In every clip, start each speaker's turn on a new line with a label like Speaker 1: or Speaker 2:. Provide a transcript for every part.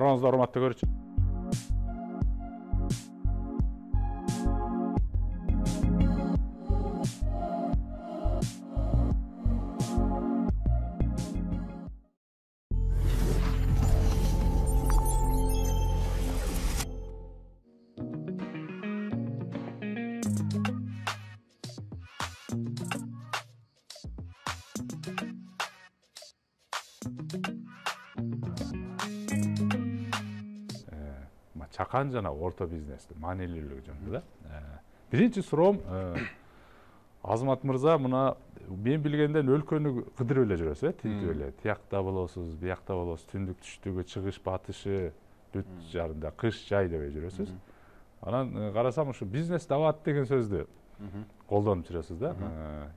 Speaker 1: Арыбаңызды урматтап көрчү. Чакан жана орто бизнестин маанилүүлүгү жөнүндө да. Биринчи суроом, Азамат мырза, мына мен билгенден өлкөнү кыдырып эле жүрөсүз, тинтип эле. Тиякта болосуз, биякта болосуз, түндүк түштүгү, чыгыш батышы, бүт жарында кыш жай дебей жүрөсүз. Анан карасам ушу бизнес дават деген сөздү колдонуп жүрөсүз да.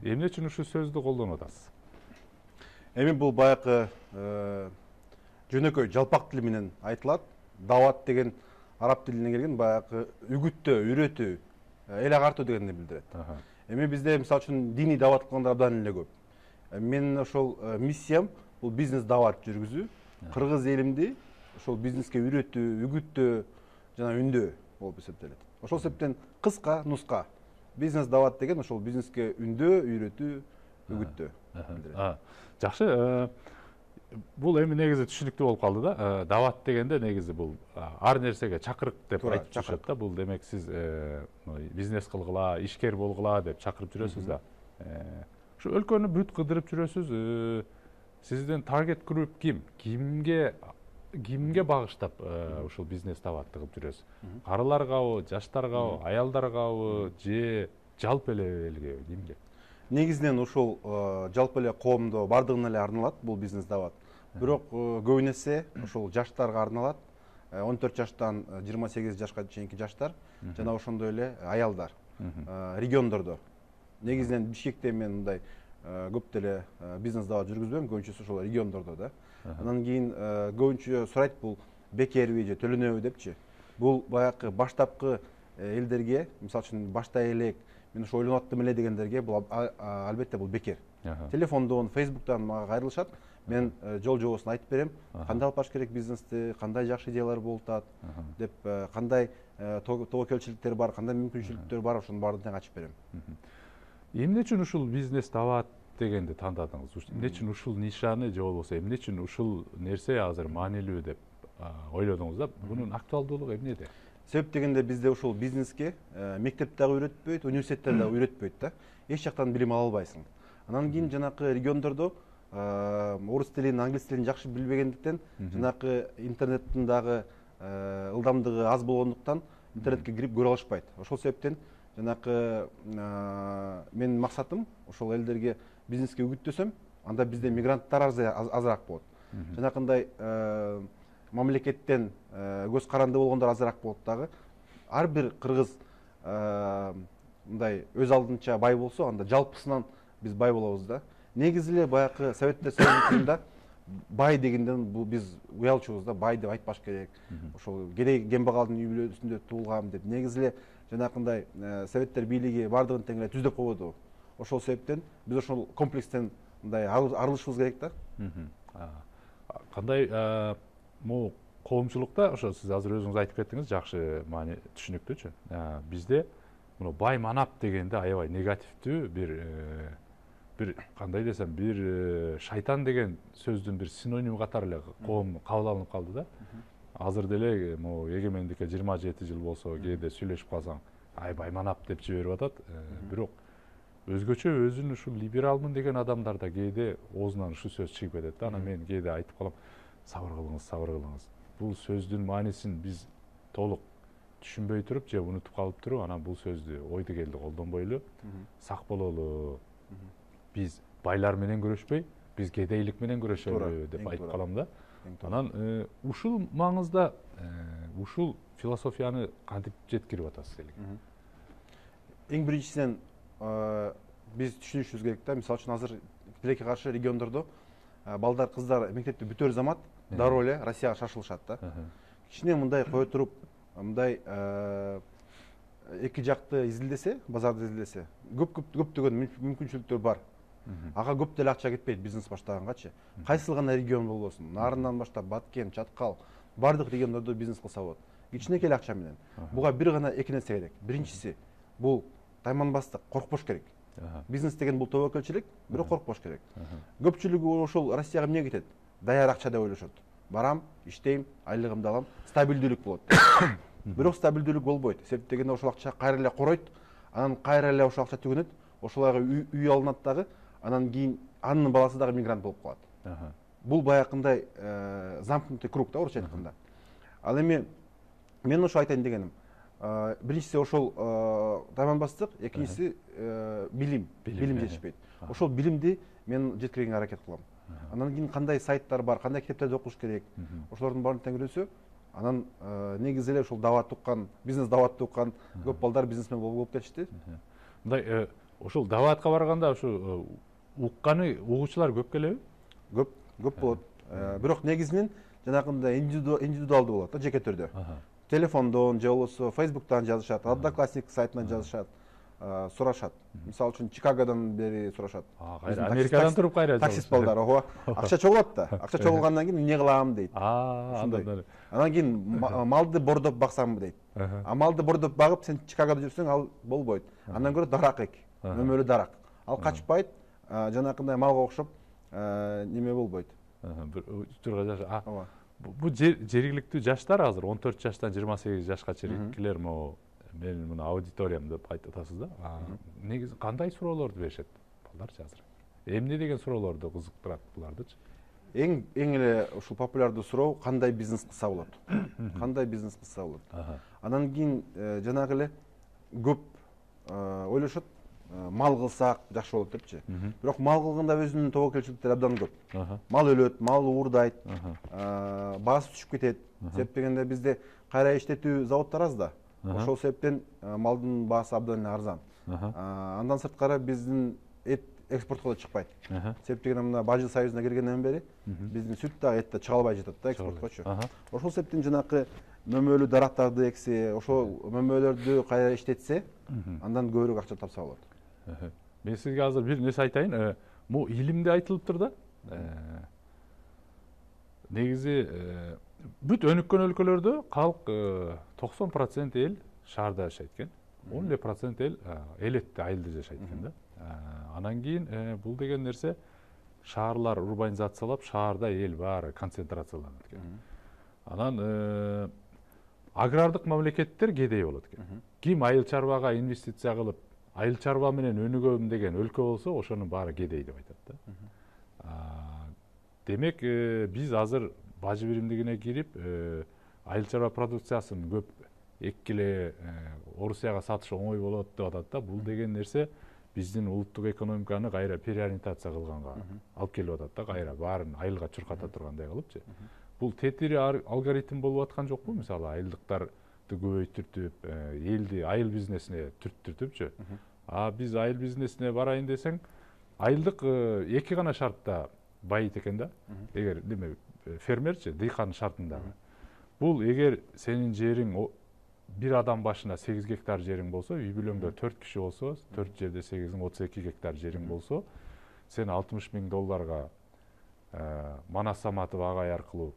Speaker 1: Эмне үчүн ушул сөздү колдонуп атасыз?
Speaker 2: Эми бул баягы жөнөкөй жалпак тил менен айтылат. Дават деген араб тилинен келген, баягы үгүттөө, үйрөтүү, эл агартуу дегенди билдирет. Эми бизде мисалы үчүн диний дават кылгандар абдан эле көп. Менин ошол миссиям бул бизнес дават жүргүзүү, кыргыз элимди ошол бизнеске үйрөтүү, үгүттөө жана үндөө болуп эсептелет. Ошол себептен кыска нуска бизнес дават деген ошол бизнеске үндөө, үйрөтүү, үгүттөө билдирет.
Speaker 1: Жакшы. Бул эми негизи түшүнүктүү болуп калды да. Дават дегенде негизи бул ар нерсеге чакырык деп айтып жүрүшөт да. Бул демек сиз бизнес кылгыла, ишкер болгула деп чакырып жүрөсүз да. Ушу өлкөнү бүт кыдырып жүрөсүз. Сиздин таргет групп ким? Кимге багыштап ушул бизнес даватты кылып жүрөсүз? Карыларгабы, жаштаргабы, аялдаргабы же жалпы эле элге, кимге?
Speaker 2: Негизинен ушул жалпы эле коомдо бардыгына эле арналат бул бизнес дават. Бирок көбүн эсе ушул жаштарга арналат. 14 жаштан 28 жашка чейинки жаштар жана ошондой эле аялдар. Региондордо. Негизинен Бишкекте мен мындай көп деле бизнес дават жүргүзбөйм, көбүнчөсү ошол региондордо да. Андан кийин көбүнчө сурайт бул бекерби же төлөнөбү депчи. Бул баягы баштапкы элдерге, мисалы үчүн баштай элек мен ушу ойлонуп аттым эле дегендерге бул албетте бул бекер. Телефондон, Facebook'тан мага кайрылышат. Мен жол жобосун айтып берем. Кандай алып баш керек бизнести, кандай жакшы идеялар болуп атат деп, кандай тобокелчиликтер бар, кандай мүмкүнчүлүктөр бар, ошонун баардыгын ачып берем.
Speaker 1: Эмне үчүн ушул бизнес дават дегенди тандадыңыз? Эмне үчүн ушул нишаны же болбосо эмне үчүн ушул нерсе азыр маанилүү деп ойлодуңуз да? Бунун актуалдуулугу эмнеде?
Speaker 2: Себеп дегенде бизде ушул бизнеске мектеп дагы үйрөтпөйт, университеттер дагы үйрөтпөйт да. Эч жактан билим ала албайсың. Анан кийин жанакы региондордо орус тилин, англис тилин жакшы билбегендиктен, жанакы интернеттин дагы ылдамдыгы аз болгондуктан интернетке кирип көрө алышпайт. Ошол себептен жанакы менин максатым ошол элдерге бизнеске үгүттөсөм, анда бизде мигранттар азыраак болот. Жанакындай мамлекеттен көз каранды болгондор азыраак болот дагы. Ар бир кыргыз мындай өз алдынча бай болсо, анда жалпысынан биз бай болобуз да. Негизи эле баягы Советтер Союзунда бай дегенден бул биз уялчубуз да, бай деп айтпаш керек. Ошол кедей кембагалдын үй бүлөсүндө туулгам деп. Негизи эле жанакындай Советтер бийлиги бардыгын тең эле түздөп койбоду. Ошол себептен биз ошол комплекстен мындай арылышыбыз керек да.
Speaker 1: Кандай могу коомчулукта, ошо сиз азыр өзүңүз айтып кеттиңиз, жакшы маани түшүнүктүүчү. Бизде мына бай манап дегенде аябай негативдүү бир кандай десем, бир шайтан деген сөздүн бир синоним катары эле коом кабыл алынып калды да. Азыр деле могу эгемендикке 27 жыл болсо, кээде сүйлөшүп калсаң, ай бай манап деп жиберип атат. Бирок өзгөчө өзүн ушул либералмын деген адамдар да кээде оозунан ушул сөз чыгып кетет да. Анан мен кээде айтып калам, сабыр кылыңыз, сабыр кылыңыз. Бул сөздүн маанисин биз толук түшүнбөй туруп же унутуп калып туруп, анан бул сөздү ойду келди колдонбойлу, сак бололу. Биз байлар менен күрөшпөй, биз кедейлик менен күрөшөлү деп айтып калам да. Анан ушул маңызда ушул философияны кантип жеткирип атасыз элге?
Speaker 2: Эң биринчисинен биз түшүнүшүбүз керек да. Мисалы үчүн азыр тилекке каршы региондордо балдар, кыздар мектепти бүтөр замат дароо эле Россияга шашылышат да. Кичине мындай кое туруп, мындай эки жакты изилдесе, базарды изилдесе, көптөгөн мүмкүнчүлүктөр бар. Ага көп деле акча кетпейт бизнес баштагангачы. Кайсыл гана регион болбосун, Нарындан баштап Баткен, Чаткал, баардык региондордо бизнес кылса болот кичинекей акча менен. Буга бир гана эки нерсе керек. Биринчиси бул тайманбастык, коркпош керек. Бизнес деген бул тобокелчилик, бирок коркпош керек. Көпчүлүгү ошол Россияга эмне кетет? Даяр акча деп ойлошот. Барам, иштейм, айлыгымды алам, стабилдүүлүк болот. Бирок стабилдүүлүк болбойт. Себеп дегенде ошол акча кайра эле коройт, анан кайра эле ошол акча түгөнөт, ошоларга үй алынат дагы, анан кийин анын баласы дагы мигрант болуп калат. Бул баягындай замкнутый круг да, орусча айтканда. Ал эми мен ошо айтайын дегеним. Биринчиси ошол тайманбастык, экинчиси билим жетишпейт. Ошол билимди мен жеткиргенге аракет кылам. Анан кийин кандай сайттар бар, кандай китептерди окуш керек, ошолордун баарын тең анан негизи эле ушул даватты уккан, бизнес даватты уккан көп балдар бизнесмен болуп кетишти.
Speaker 1: Мындай ошол даватка барганда ушу укканы угуучулар көп келеби?
Speaker 2: Көп болот. Бирок негизинен жанагындай индивидуалдуу болот да, жеке түрдө. Телефондон же болбосо Facebook'тан жазышат, Одноклассник сайтынан жазышат, сурашат. Мисалы үчүн Чикагодон бери сурашат.
Speaker 1: Америкадан туруп кайра
Speaker 2: таксист балдар, ого. Акча чогулат да. Акча чогулгандан кийин эмне кылам дейт. Ошондой. Анан кийин малды бордоп баксамбы дейт. Малды бордоп багып сен Чикагодо жүрсөң ал болбойт. Андан көрө дарак эк, мөмөлүү дарак. Ал качпайт, жанакындай малга окшоп неме болбойт.
Speaker 1: Бул жергиликтүү жаштар азыр 14 жаштан 28 жашка чейинкилер менин мына аудиториям деп айтасыз да. Негизи кандай суроолорду беришет балдарчы азыр? Эмне деген суроолорду кызыктырат булардычы?
Speaker 2: Эң эле ушул популярдуу суроо кандай бизнес кылса болот? Кандай бизнес кылса болот? Анан кийин жанагы эле көп ойлошот, мал кылсак жакшы болот депчи. Бирок мал кылганда өзүнүн тобокелчиликтери абдан көп. Мал өлөт, мал уурдайт, баасы түшүп кетет. Себеп дегенде бизде кайра иштетүү заводдор аз да. Ошол себептен малдын баасы абдан арзан. Андан сырткары биздин эт экспортко да чыкпайт. Себеп дегенде мына Бажы союзуна киргенден бери биздин сүт дагы эт да чыга албай жатат да экспорткочу. Ошол себептен жанакы мөмөлүү дарактарды эксе, ошол мөмөлөрдү кайра иштетсе, андан көбүрөөк акча тапса болот.
Speaker 1: Мен сизге азыр бир нерсе айтайын. Бул илимде айтылыптыр да. Негизи бүт өнүккөн өлкөлөрдө калк 90% эл шаарда жашайт экен. 11% эл элетте, айылда жашайт экен да. Анан кийин бул деген нерсе шаарлар урбанизациялап, шаарда эл баары концентрацияланат экен. Анан агрардык мамлекеттер кедей болот экен. Ким айыл чарбага инвестиция кылып, айыл чарба менен өнүгөм деген өлкө болсо, ошонун баары кедей деп айтат да. Демек, биз азыр бажы биримдигине кирип, айыл чарба продукциясын көп эккиле Орусияга сатыш оңой болот деп атат да. Бул деген нерсе биздин улуттук экономиканы кайра переориентация кылганга алып келип атат да, кайра баарын айылга чурката тургандай кылыпчы. Бул тетири алгоритм болуп аткан жокпу? Мисалы, айылдыктарды көбөйтүртүп, элди айыл бизнесине түртүртүпчү. Биз айыл бизнесине барайын десең, айылдык эки гана шартта байыт экен да. Эгер фермерчи, дыйкан шартындагы. Бул эгер сенин жериң бир адам башына 8 гектар жериң болсо, үй бүлөңдө 4 киши болсо, 4 жерде 8-ин 32 гектар жериң болсо, сен $60,000 Манас Саматов агай аркылуу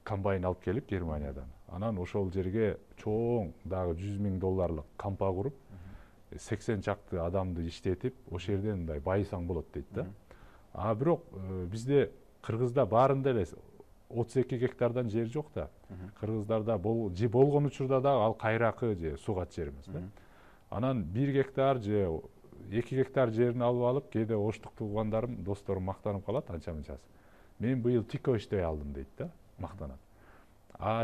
Speaker 1: комбайн алып келип Германиядан. Анан ошол жерге чоң дагы $100,000 кампа куруп, 80 чакты адамды иштетип, ошол жерден мындай байысаң болот дейт да. Бирок бизде кыргызда баарында эле 32 гектардан жер жок да. Кыргыздарда болгон учурда да ал кайракы же сугат жер эмес да. Анан 1 гектар же 2 гектар жерин алып, кээде оштук туугандарым, досторум мактанып калат анча-мынчасы. Мен быйыл тико иштей алдым дейт да, мактанат.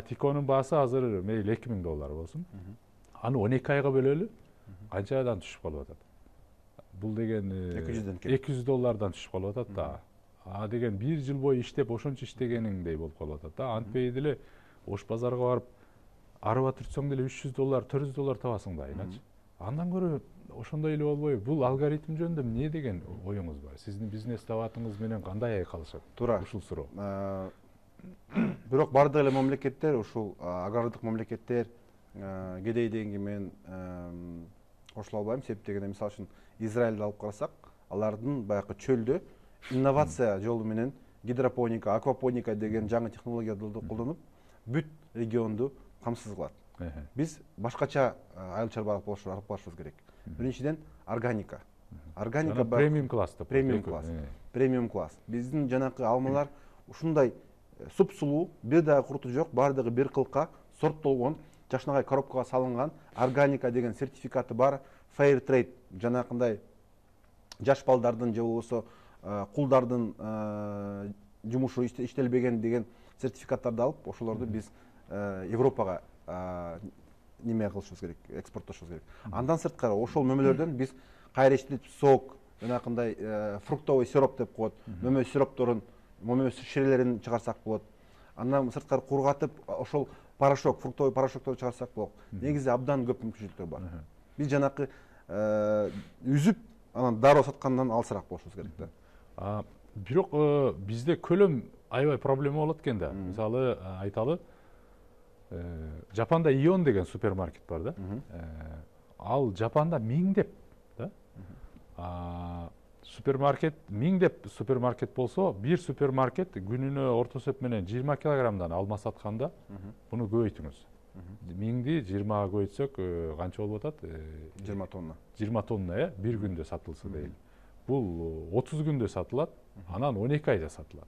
Speaker 1: Тиконун баасы азыр мейли $2,000 болсун. Аны 12 айга бөлөлү, канчадан түшүп калып атат. Бул деген $200 түшүп калып атат да. Деген 1 жыл бою иштеп, ошончо иштегениңдей болуп калып атат да. Антпей деле Ош базарга барып, арба түртсөң деле $300, $400 табасың да, иначы. Андан көрө ошондой эле болбойбу? Бул алгоритм жөнүндө эмне деген оюңуз бар? Сиздин бизнес даватыңыз менен кандай айкалышат?
Speaker 2: Туура.
Speaker 1: Ушул суроо.
Speaker 2: Бирок бардык эле мамлекеттер, ушул агрардык мамлекеттер кедей дегенге мен кошула албайм. Себеп дегенде, мисалы үчүн Израилди алып карасак, алардын баягы чөлдө инновация жолу менен гидропоника, аквапоника деген жаңы технологияларды колдонуп, бүт регионду камсыз кылат. Биз башкача айыл чарба алып барышыбыз керек. Биринчиден органика. Органика
Speaker 1: премиум класс деп.
Speaker 2: Премиум класс. Биздин жанакы алмалар ушундай суп-сулуу, бир дагы курту жок, баардыгы бир кылка сорттолгон, жакшынакай коробкага салынган, органика деген сертификаты бар, fair trade жанакындай жаш балдардын же болбосо кулдардын жумушу иштелбеген деген сертификаттарды алып, ошолорду биз Европага неме кылышыбыз керек, экспорттошубуз керек. Андан сырткары ошол мөмөлөрдөн биз кайра иштетип сок, жанакындай фруктовый сироп деп коет, мөмө сиропторун, мөмө ширелерин чыгарсак болот. Андан сырткары кургатып ошол порошок, фруктовый порошокторду чыгарсак болот. Негизи абдан көп мүмкүнчүлүктөр бар. Биз жанакы үзүп, анан дароо саткандан алысыраак болушубуз керек да.
Speaker 1: Бирок бизде көлөм аябай проблема болот экен да. Мисалы айталы, Жапанда Ион деген супермаркет бар да. Ал Жапанда миңдеп да. Супермаркет миңдеп супермаркет болсо, бир супермаркет күнүнө орто эсеп менен 20 килограммдан алма сатканда, буну көбөйтүңүз. Миңди 20га көбөйтсөк канча болуп атат?
Speaker 2: 20 тонна.
Speaker 1: 20 тонна, бир күндө сатылса дейли. Бул 30 күндө сатылат, анан 12 айда сатылат.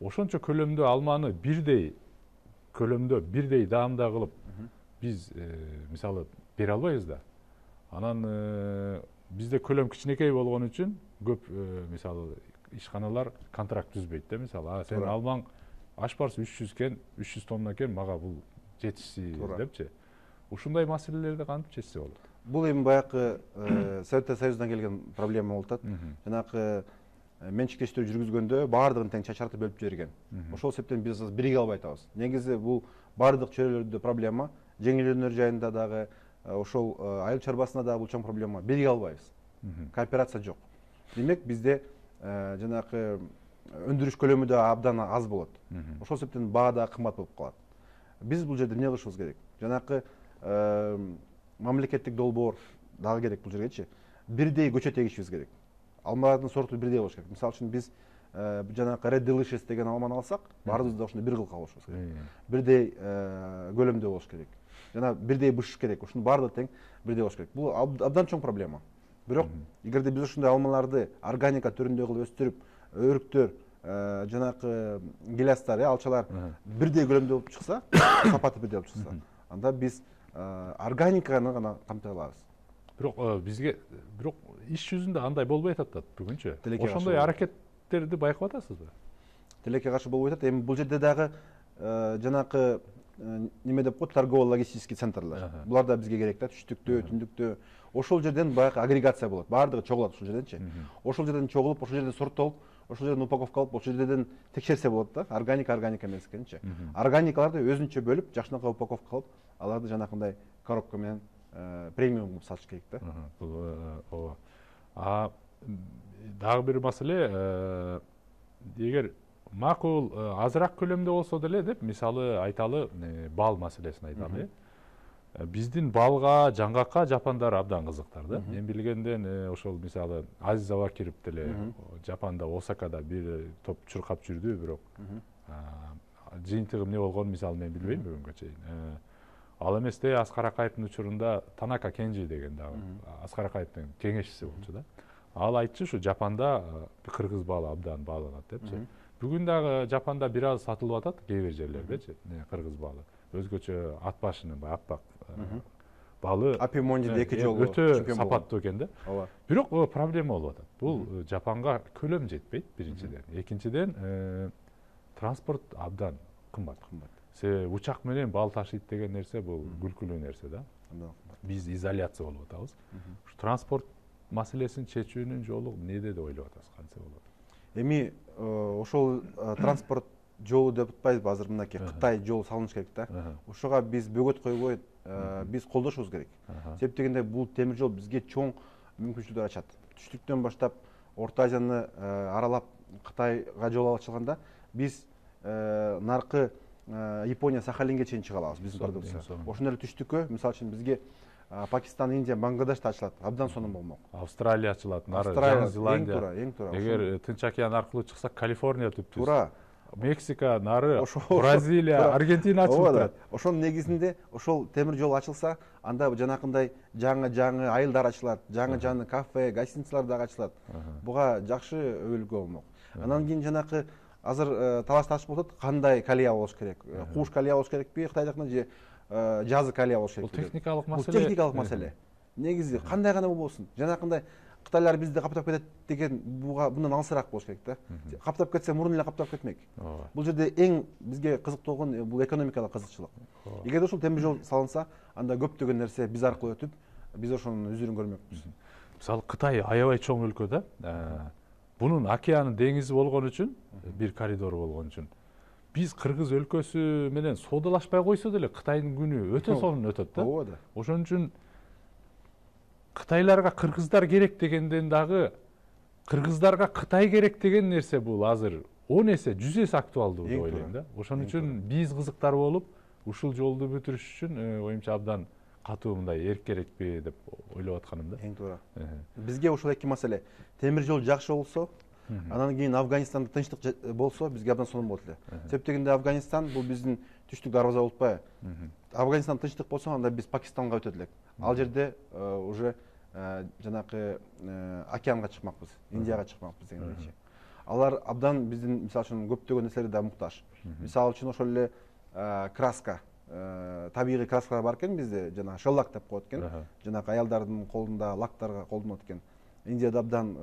Speaker 1: Ошончо көлөмдө алманы бирдей даамда кылып биз мисалы бере албайбыз да. Анан бизде көлөм кичинекей болгон үчүн көп мисалы ишканалар контракт түзбөйт да. Мисалы сен алмаң аш барсы 300 кен, 300 тонна кен, мага бул жетишси депчи. Ушундай маселелерди кантип чечсе болот?
Speaker 2: Бул эми баягы Советтер Союзунан келген проблема болуп атат. Жанакы менчиктештирүү жүргүзгөндө баардыгын тең чачартып бөлүп жиберген. Ошол себептен биз бириге албай атабыз. Негизи бул баардык чөйрөлөрдө проблема, жеңилдөөнөр жайында дагы, ошол айыл чарбасында дагы бул чоң проблема. Бириге албайбыз. Кооперация жок. Демек бизде жанакы өндүрүш көлөмү да абдан аз болот. Ошол себептен баа да кымбат болуп калат. Биз бул жерде эмне кылышыбыз керек? Жанакы мамлекеттик долбоор дагы керек бул жергечи. Бирдей көчөт эгишибиз керек. Алмалардын сорту бирдей болуш керек. Мисалы үчүн биз жанакы Red Delicious деген алманы алсак, баарыбыз да ошондой бир кылка болушубуз керек. Бирдей көлөмдө болуш керек. Жана бирдей бышыш керек. Ушунун баардыгы тең бирдей болуш керек. Бул абдан чоң проблема. Бирок эгерде биз ушундай алмаларды органика түрүндө кылып өстүрүп, өрүктөр, жанакы гилястар, алчалар бирдей көлөмдө болуп чыкса, сапаты бирдей болуп чыкса, анда биз органиканы гана камтай алабыз.
Speaker 1: Бирок бизге иш жүзүндө андай болбой атат бүгүнчө. Ошондой аракеттерди байкап атасызбы? Тилекке
Speaker 2: каршы болбой атат. Эми бул жерде дагы жанакы неме деп коет, торгово-логистический центрлер. Булар да бизге керек да, түштүктө, түндүктө. Ошол жерден баягы агрегация болот. Баардыгы чогулат ошол жерденчи. Ошол жерден чогулуп, ошол жерден сорттолуп, ошол жерден упаковка алып, ошол жерден текшерсе болот да. Органика эмес экенчи. Органикаларды өзүнчө бөлүп, жакшынакай упаковка кылып, аларды жанакындай коробка менен премиум кылып сатыш керек да.
Speaker 1: Ооба. Дагы бир маселе, эгер макул азыраак көлөмдө болсо деле деп, мисалы айталы, бал маселесин айталы. Биздин балга, жаңгакка жапандар абдан кызыктар да. Мен билгенден ошол мисалы Азиз Абакиров деле Жапанда, Осакада бир топ чуркап жүрдү, бирок жыйынтыгы эмне болгонун мисалы мен билбейм бүгүнгө чейин. Ал эместе Аскар Акаевдин учурунда Танака Кенжи деген дагы Аскар Акаевдин кеңешчиси болчу да. Ал айтчу, ушу Жапанда кыргыз балы абдан бааланат депчи. Бүгүн дагы Жапанда бир аз сатылып атат кээ бир жерлердечи, кыргыз балы. Өзгөчө ат башынын аппак балы.
Speaker 2: Апимонди эки жолу
Speaker 1: өтө сапаттуу экен да. Бирок проблема болуп атат. Бул Жапанга көлөм жетпейт биринчиден. Экинчиден транспорт абдан кымбат. Себеби учак менен бал ташыйт деген нерсе бул күлкүлүү нерсе да. Биз изоляция болуп атабыз. Ушу транспорт маселесин чечүүнүн жолу эмнеде деп ойлоп атасыз, кантсе болот?
Speaker 2: Эми ошол транспорт жолу деп атпайбызбы, азыр мынакей Кытай жолу салыныш керек да. Ошого биз бөгөт койбой, биз колдошубуз керек. Себеп дегенде бул темир жол бизге чоң мүмкүнчүлүктөр ачат. Түштүктөн баштап Орто Азияны аралап Кытайга жол ачылганда биз наркы Япония, Сахалинге чейин чыга алабыз биздин продукция. Ошондой эле түштүккө, мисалы үчүн бизге Пакистан, Индия, Бангладеш да ачылат. Абдан сонун болмок.
Speaker 1: Австралия ачылат, Жаңы Зеландия.
Speaker 2: Эң туура.
Speaker 1: Эгер Тынч океан аркылуу чыксак, Калифорния түптүз.
Speaker 2: Туура.
Speaker 1: Мексика нары, Бразилия, Аргентина ачылып турат.
Speaker 2: Ошонун негизинде ошол темир жол ачылса, анда жанакындай жаңы айылдар ачылат, жаңы кафе, гостиницалар дагы ачылат. Буга жакшы өбөлгө болмок. Анан кийин жанакы азыр талаш тартыш болуп атат, кандай колея болуш керек? Кууш колея болуш керекпи Кытайдыкына же жазы колея болуш керекпи?
Speaker 1: Бул техникалык маселе.
Speaker 2: Бул техникалык маселе. Негизи кандай гана болбосун. Жанакындай Кытайлар бизди каптап кетет деген мындан алысыраак болуш керек да. Каптап кетсе мурун эле каптап кетмек. Бул жерде эң бизге кызыктуу болгон бул экономикалык кызыкчылык. Эгерде ушул темир жол салынса, анда көптөгөн нерсе биз аркылуу өтүп, биз ошонун үзүрүн көрмөкпүз.
Speaker 1: Мисалы Кытай аябай чоң өлкө да. Бунун океаны деңизи болгон үчүн, бир коридор болгон үчүн биз Кыргыз өлкөсү менен соодалашпай койсо деле Кытайдын күнү өтө сонун өтөт да.
Speaker 2: Ооба да.
Speaker 1: Ошон үчүн Кытайларга кыргыздар керек дегенден дагы кыргыздарга Кытай керек деген нерсе бул азыр 10 эсе 100 эсе актуалдуу деп ойлойм да. Ошон үчүн биз кызыктар болуп ушул жолду бүтүрүш үчүн оюмча абдан катуу мындай эрк керекпи деп ойлоп атканым да.
Speaker 2: Эң туура. Бизге ушул эки маселе. Темир жол жакшы болсо, анан кийин Афганистанда тынчтык болсо, бизге абдан сонун болот эле. Себеп дегенде Афганистан бул биздин түштүк дарбаза болуп атпайбы? Афганистан тынчтык болсо, анда биз Пакистанга өтөт элек. Ал жерде уже жанакы океанга чыкмакпыз, Индияга чыкмакпыз дегендейчи. Алар абдан биздин мисалы үчүн көптөгөн нерселерге да муктаж. Мисалы үчүн ошол эле краска, табигый краскалар бар экен бизде, жана шеллак деп коет экен. Жанакы аялдардын колунда лактарга колдонот экен. Индияда абдан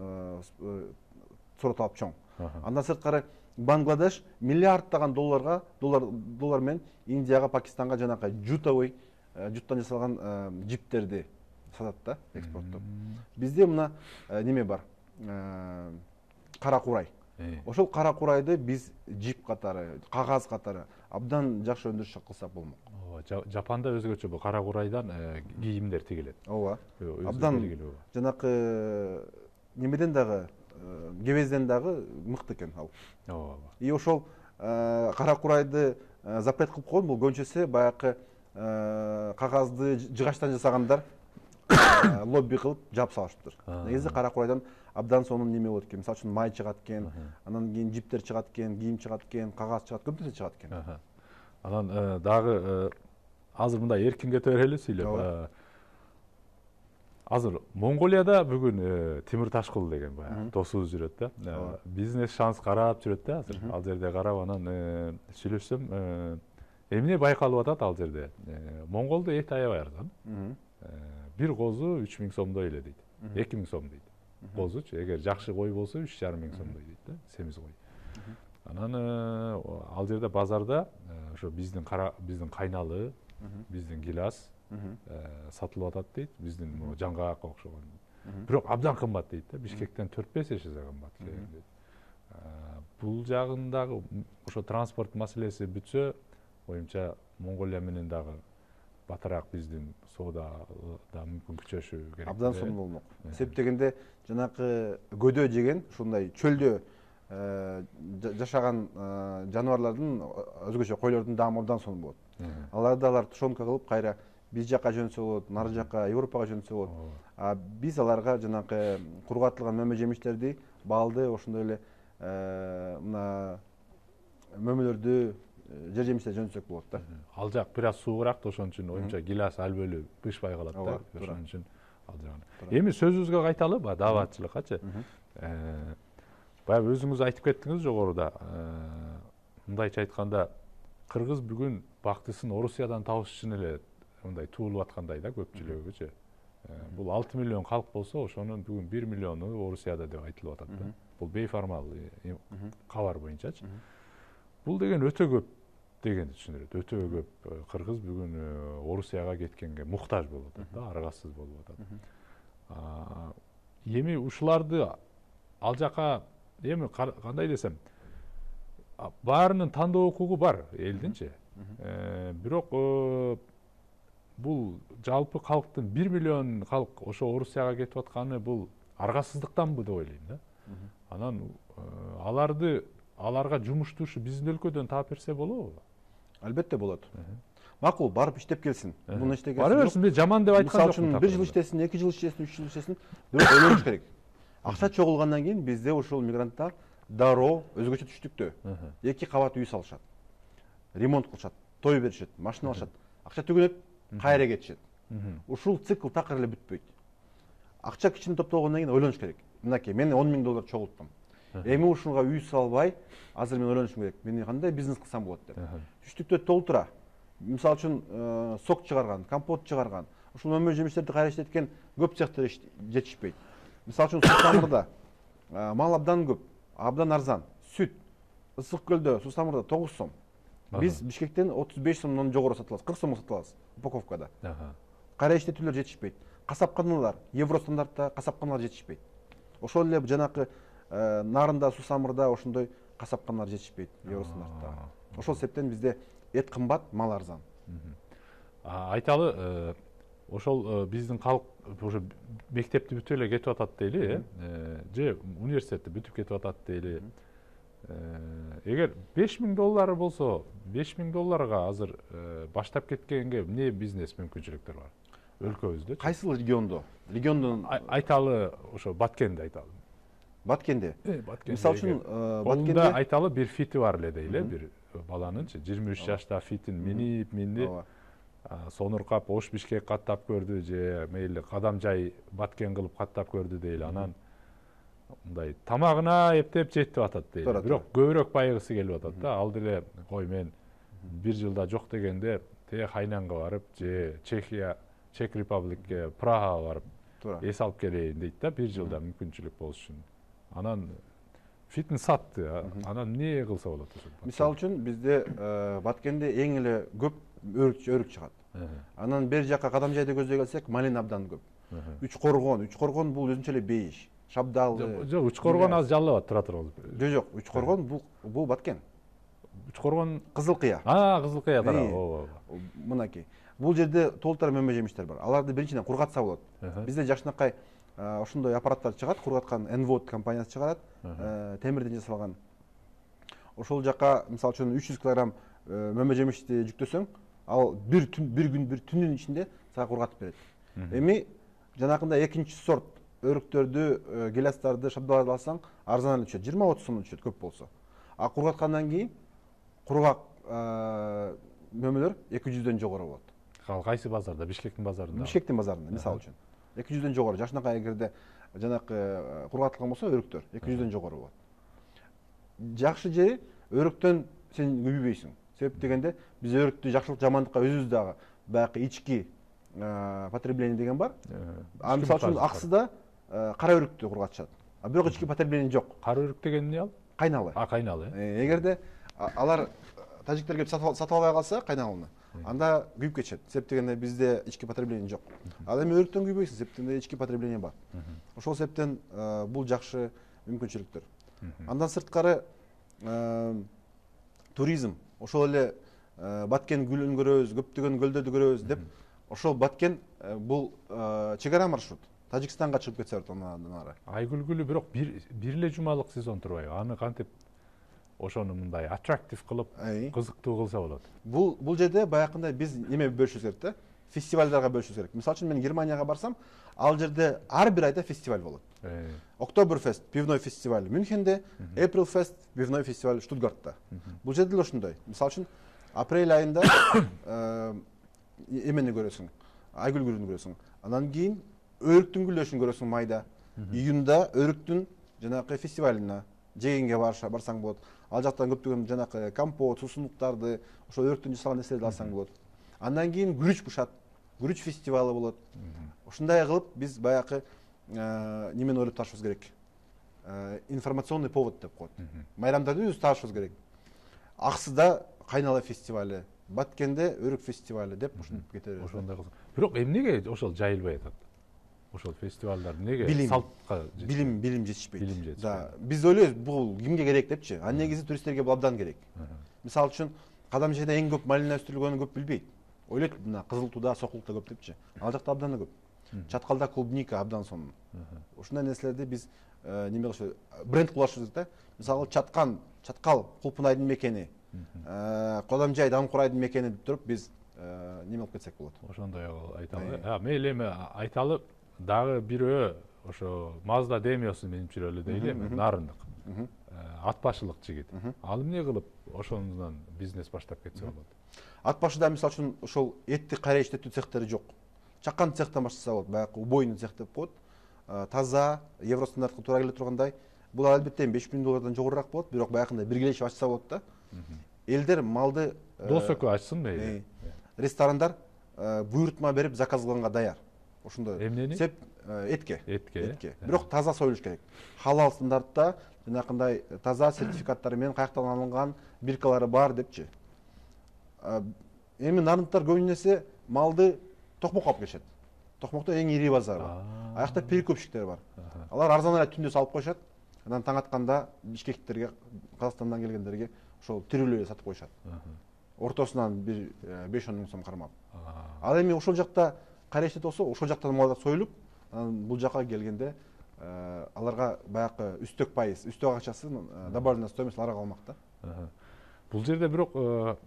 Speaker 2: сороталап чоң. Андан сырткары Бангладеш миллиарддаган доллар менен Индияга, Пакистанга жанакы жуттан жасалган жиптерди сатат да, экспорттоп. Бизде мына неме бар, кара курай. Ошол кара курайды биз жип катары, кагаз катары абдан жакшы өндүрүш кылсак болмок.
Speaker 1: Жапанда өзгөчө бул кара курайдан кийимдер тигилет.
Speaker 2: Ооба. Абдан жанакы немеден дагы, кебезден дагы мыкты экен ал.
Speaker 1: Ооба.
Speaker 2: И ошол кара курайды запрет кылып койгон, бул көбүнчөсү баягы кагазды жыгачтан жасагандар лобби кылып жаап салышыптыр. Негизи кара курайдан абдан сонун неме болот экен. Мисалы үчүн май чыгат экен, анан кийин жиптер чыгат экен, кийим чыгат экен, кагаз чыгат, көп нерсе чыгат экен.
Speaker 1: Анан дагы азыр мындай эркин кете берели сүйлөп. Азыр Монголияда бүгүн Тимир Ташкул деген баягы досубуз жүрөт да. Бизнес шанс карап жүрөт да азыр. Ал жерде карап анан сүйлөшсөм, эмне байкалып атат ал жерде? Монголдо эт аябай арзан. Бир козу 3000 сомдой эле дейт. 2000 сом дейт. Козучу, эгер жакшы кой болсо 3500 сомдой дейт да, семиз кой. Анан ал жерде базарда ошо биздин кайналы, биздин гилас сатылып атат дейт, биздин жаңгакка окшогон. Бирок абдан кымбат дейт да, Бишкектен 4-5 эсе кымбат дейт. Бул жагындагы ошо транспорт маселеси бүтсө, оюмча Монголия менен дагы батыраак биздин соода да мүмкүн күчөшү керек.
Speaker 2: Абдан сонун болмок. Себеп дегенде жанакы көдө жеген, ушундай чөлдө жашаган жаныбарлардын, өзгөчө койлордун даамы абдан сонун болот. Алар тушенка кылып кайра биз жака жөнсө болот, нары жака Европага жөнсө болот. Биз аларга жанакы кургатылган мөмө жемиштерди, балды, ошондой эле мына мөмөлөрдү, жер жемиштерди жөнсөк болот да.
Speaker 1: Ал жак бир аз суураак, ошон үчүн оюмча гилас албөлү бышпай калат да. Ошон үчүн ал жагын. Эми сөзүбүзгө кайталы, дааватчылыккачы. Баягы өзүңүз айтып кеттиңиз жогоруда. Мындайча айтканда, кыргыз бүгүн бактысын Орусиядан табыш үчүн эле мындай туулуп аткандай да көпчүлүгүчү. Бул 6 миллион калк болсо, ошонун бүгүн 1 миллиону Орусияда деп айтылып атат да. Бул бейформал кабар боюнчачы. Бул деген өтө көп дегенди түшүндүрөт. Өтө көп кыргыз бүгүн Орусияга кеткенге муктаж болуп атат да, аргасыз болуп атат. Эми ушуларды ал жака эми кандай десем, баарынын тандоо укугу бар элдинчи. Бирок бул жалпы калктын 1 миллион калк ошо Орусияга кетип атканы бул аргасыздыктанбы деп ойлойм да. Анан аларга жумуштушу биздин өлкөдөн таап берсе болобу?
Speaker 2: Албетте болот. Макул, барып иштеп келсин. Муну иштеген.
Speaker 1: Бара берсин, мен жаман деп айткан жокмун.
Speaker 2: Мисалы үчүн 1 жыл иштесин, 2 жыл иштесин, 3 жыл иштесин, бирок ойлонуш керек. Акча чогулгандан кийин бизде ушул мигранттар дароо өзгөчө түштүктө 2 кабат үй салышат, ремонт кылышат, той беришет, машина алышат, акча төгөнөт, кайра кетишет. Ушул цикл такыр эле бүтпөйт. Акча кичине топтогондон кийин ойлонуш керек. Мынакей, мен $10,000 чогулттум. Эми ушуга үй салбай, азыр мен ойлонушум керек. Мен кандай бизнес кылсам болот деп. Түштүктө толтура. Мисалы үчүн сок чыгарган, компот чыгарган, ушул мөмө жемиштерди кайра иштеткен көп цехтер жетишпейт. Мисалы үчүн Сусамырда мал абдан көп, абдан арзан. Сүт Ысык Көлдө, Сусамырда 9 сом. Биз Бишкектен 35 сомдон жогору сатылабыз, 40 сомго сатылабыз упаковкада. Кайра иштетүүлөр жетишпейт. Касапканалар евро стандартта касапканалар жетишпейт. Ошол эле жанакы Нарында, Сусамырда ошондой касапканалар жетишпейт евро стандартта. Ошол себептен бизде эт кымбат, мал арзан.
Speaker 1: Айталы, ошол биздин калк уже мектепти бүтүп эле кетип атат дейли, же университетти бүтүп кетип атат дейли. Эгер $5,000 болсо, $5,000 азыр баштап кеткенге эмне бизнес мүмкүнчүлүктөр бар өлкөбүздө?
Speaker 2: Кайсыл региондо? Региондон
Speaker 1: айталы ошо Баткенди айталы.
Speaker 2: Баткенде. Мисалы үчүн
Speaker 1: Баткенде айталы бир фити бар эле дейли, бир баланынчы 23 жашта фитин минди сонуркап Ош Бишкек каттап көрдү, же мейли кадам жай Баткен кылып каттап көрдү дейли. Анан мындай тамагына эптеп жетип атат дейли. Бирок көбүрөөк байыгысы келип атат да. Ал деле кой мен бир жылда жок дегенде те Хайнанга барып, же Чехия, Чек Републикке, Прагага барып эс алып келейин дейт да, бир жылда мүмкүнчүлүк болуш үчүн. Анан фитин сатты. Анан эмне кылса болот ошол?
Speaker 2: Мисалы үчүн бизде Баткенде эң эле көп өрүк чыгат. Анан бер жака кадам жайды көздөй келсек, малин абдан көп. Үч коргон бул өзүнчө эле бейиш. Шабдалы.
Speaker 1: Жок, Үч коргон аз жаллабат, тура тургуз.
Speaker 2: Жок, Үч коргон бул Баткен.
Speaker 1: Үч коргон
Speaker 2: Кызыл Кыя.
Speaker 1: Кызыл Кыя тарабы.
Speaker 2: Ооба. Мынакей. Бул жерде толтура мөмө жемиштер бар. Аларды биринчиден кургатса болот. Бизде жакшынакай ошондой аппараттар чыгат, кургаткан Envod компаниясы чыгарат, темирден жасалган. Ошол жака мисалы үчүн 300 кг мөмө жемишти жүктөсөң, ал бир түндүн ичинде сага кургатып берет. Эми жанакындай экинчи сорт өрүктөрдү, гелястарды, шабдаларды алсаң, арзан эле түшөт, 20-30 сомдон түшөт көп болсо. А кургаткандан кийин кургак мөмөлөр 200дөн жогору болот.
Speaker 1: Кайсы базарда? Бишкектин базарында?
Speaker 2: Бишкектин базарында, мисалы үчүн. 200дөн жогору. Жакшынакай эгерде жанакы кургатылган болсо өрүктөр 200дөн жогору болот. Жакшы жери өрүктөн сен күйбөйсүң. Себеп дегенде биз өрүктү жакшылык жамандыкка өзүбүз дагы баягы ички потребление деген бар. Мисалы үчүн Аксыда кара өрүктү кургатышат. Бирок ички потребление жок.
Speaker 1: Кара өрүк деген эмне ал?
Speaker 2: Кайналы.
Speaker 1: Кайналы.
Speaker 2: Эгерде алар тажиктер келип сатып албай калса кайналыны, анда күйүп кетишет. Себеп дегенде бизде ички потребление жок. Ал эми өрүктөн күйбөйсүң, себеп дегенде ички потребление бар. Ошол себептен бул жакшы мүмкүнчүлүктөр. Андан сырткары туризм, ошол эле Баткен гүлүн көрөбүз, көптөгөн көлдөрдү көрөбүз деп, ошол Баткен бул чек ара маршрут. Тажикстанга чыгып кетсе болот андан ары.
Speaker 1: Айгүлгүлү бирок бир эле жумалык сезон турбайбы? Аны кантип ошону мындай аттрактив кылып, кызыктуу кылса болот?
Speaker 2: Бул жерде баягындай биз неме бөлүшүбүз керек да, фестивалдарга бөлүшүбүз керек. Мисалы үчүн мен Германияга барсам, ал жерде ар бир айда фестиваль болот. Октоберфест пивной фестиваль Мюнхенде, Aprilfest пивной фестиваль Штутгартта. Бул жерде деле ошондой. Мисалы үчүн апрель айында эмени көрөсүң, айгүлгүлүн көрөсүң. Андан кийин өрүктүн гүлдөшүн көрөсүң майда. Июнда өрүктүн жанакы фестивалына жегенге барсаң болот. Ал жактан көптөгөн жанакы компот, суусундуктарды, ошо өрүктөн жасалган нерселерди алсаң болот. Андан кийин күрүч бушат, күрүч фестивалы болот. Ушундай кылып биз баягы немени ойлоп табышыбыз керек. Информационный повод деп коет. Майрамдарды өзүбүз табышыбыз керек. Аксыда кайнала фестивалы, Баткенде өрүк фестивалы деп ушинтип кетебиз.
Speaker 1: Ошондой кылсак. Бирок эмнеге ошол жайылбай атат? Ошол фестивалдар неге салтка
Speaker 2: билим жетишпейт. Да, биз ойлойбуз бул кимге керек депчи. А негизи туристтерге бул абдан керек. Мисалы үчүн кадам жайда эң көп малина өстүрүлгөнүн көп билбейт. Ойлойт мына Кызыл Тууда, Сокулукта көп депчи. Ал жакта абдан көп. Чаткалда клубника абдан сонун. Ушундай нерселерди биз неме кылышыбыз, бренд кылышыбыз да. Мисалы Чаткал Кулпунайдын мекени, Кодамжай Дамкурайдын мекени деп туруп биз неме кылып кетсек болот.
Speaker 1: Ошондой айталы. Мейли эми айталы дагы бирөө ошо Mazda Demio'сун минип жүрөлү дейли, Нарындык. ат башылык жигит. Ал эмне кылып ошондон бизнес баштап кетсе болот?
Speaker 2: Ат башыда мисалы үчүн ошол этти кайра иштетүү цехтери жок. Чакан цехтан баштаса болот, баягы убойный цех деп коет. Таза, евро стандартка туура келе тургандай. Бул албетте $5.000 жогорураак болот, бирок баягындай биргелешип ачса болот да. Элдер малды
Speaker 1: дос экөө ачсын мейли.
Speaker 2: Ресторандар буйрутма берип заказ кылганга даяр. Ошондой.
Speaker 1: Эмнени?
Speaker 2: Сеп этке.
Speaker 1: Этке.
Speaker 2: Бирок таза союлуш керек. Халал стандартта жанакындай таза сертификаттары менен каяктан алынган биркалары бар депчи. Эми нарындыктар көбүнесе малды Токмокко алып келишет. Токмокто эң ири базар бар. Аякта перекупщиктер бар. Алар арзан эле түндө салып коюшат. Анан таң атканда бишкектерге, Казакстандан келгендерге ошол тирүүлүү эле сатып коюшат. Ортосунан бир 5-10 миң сом кармап. Ал эми ошол жакта кайра иштетип болсо, ошол жактан малдар союлуп, анан бул жака келгенде аларга баягы үстөк пайыз, үстөк акчасын добавленная стоимость аларга калмак да.
Speaker 1: Бул жерде бирок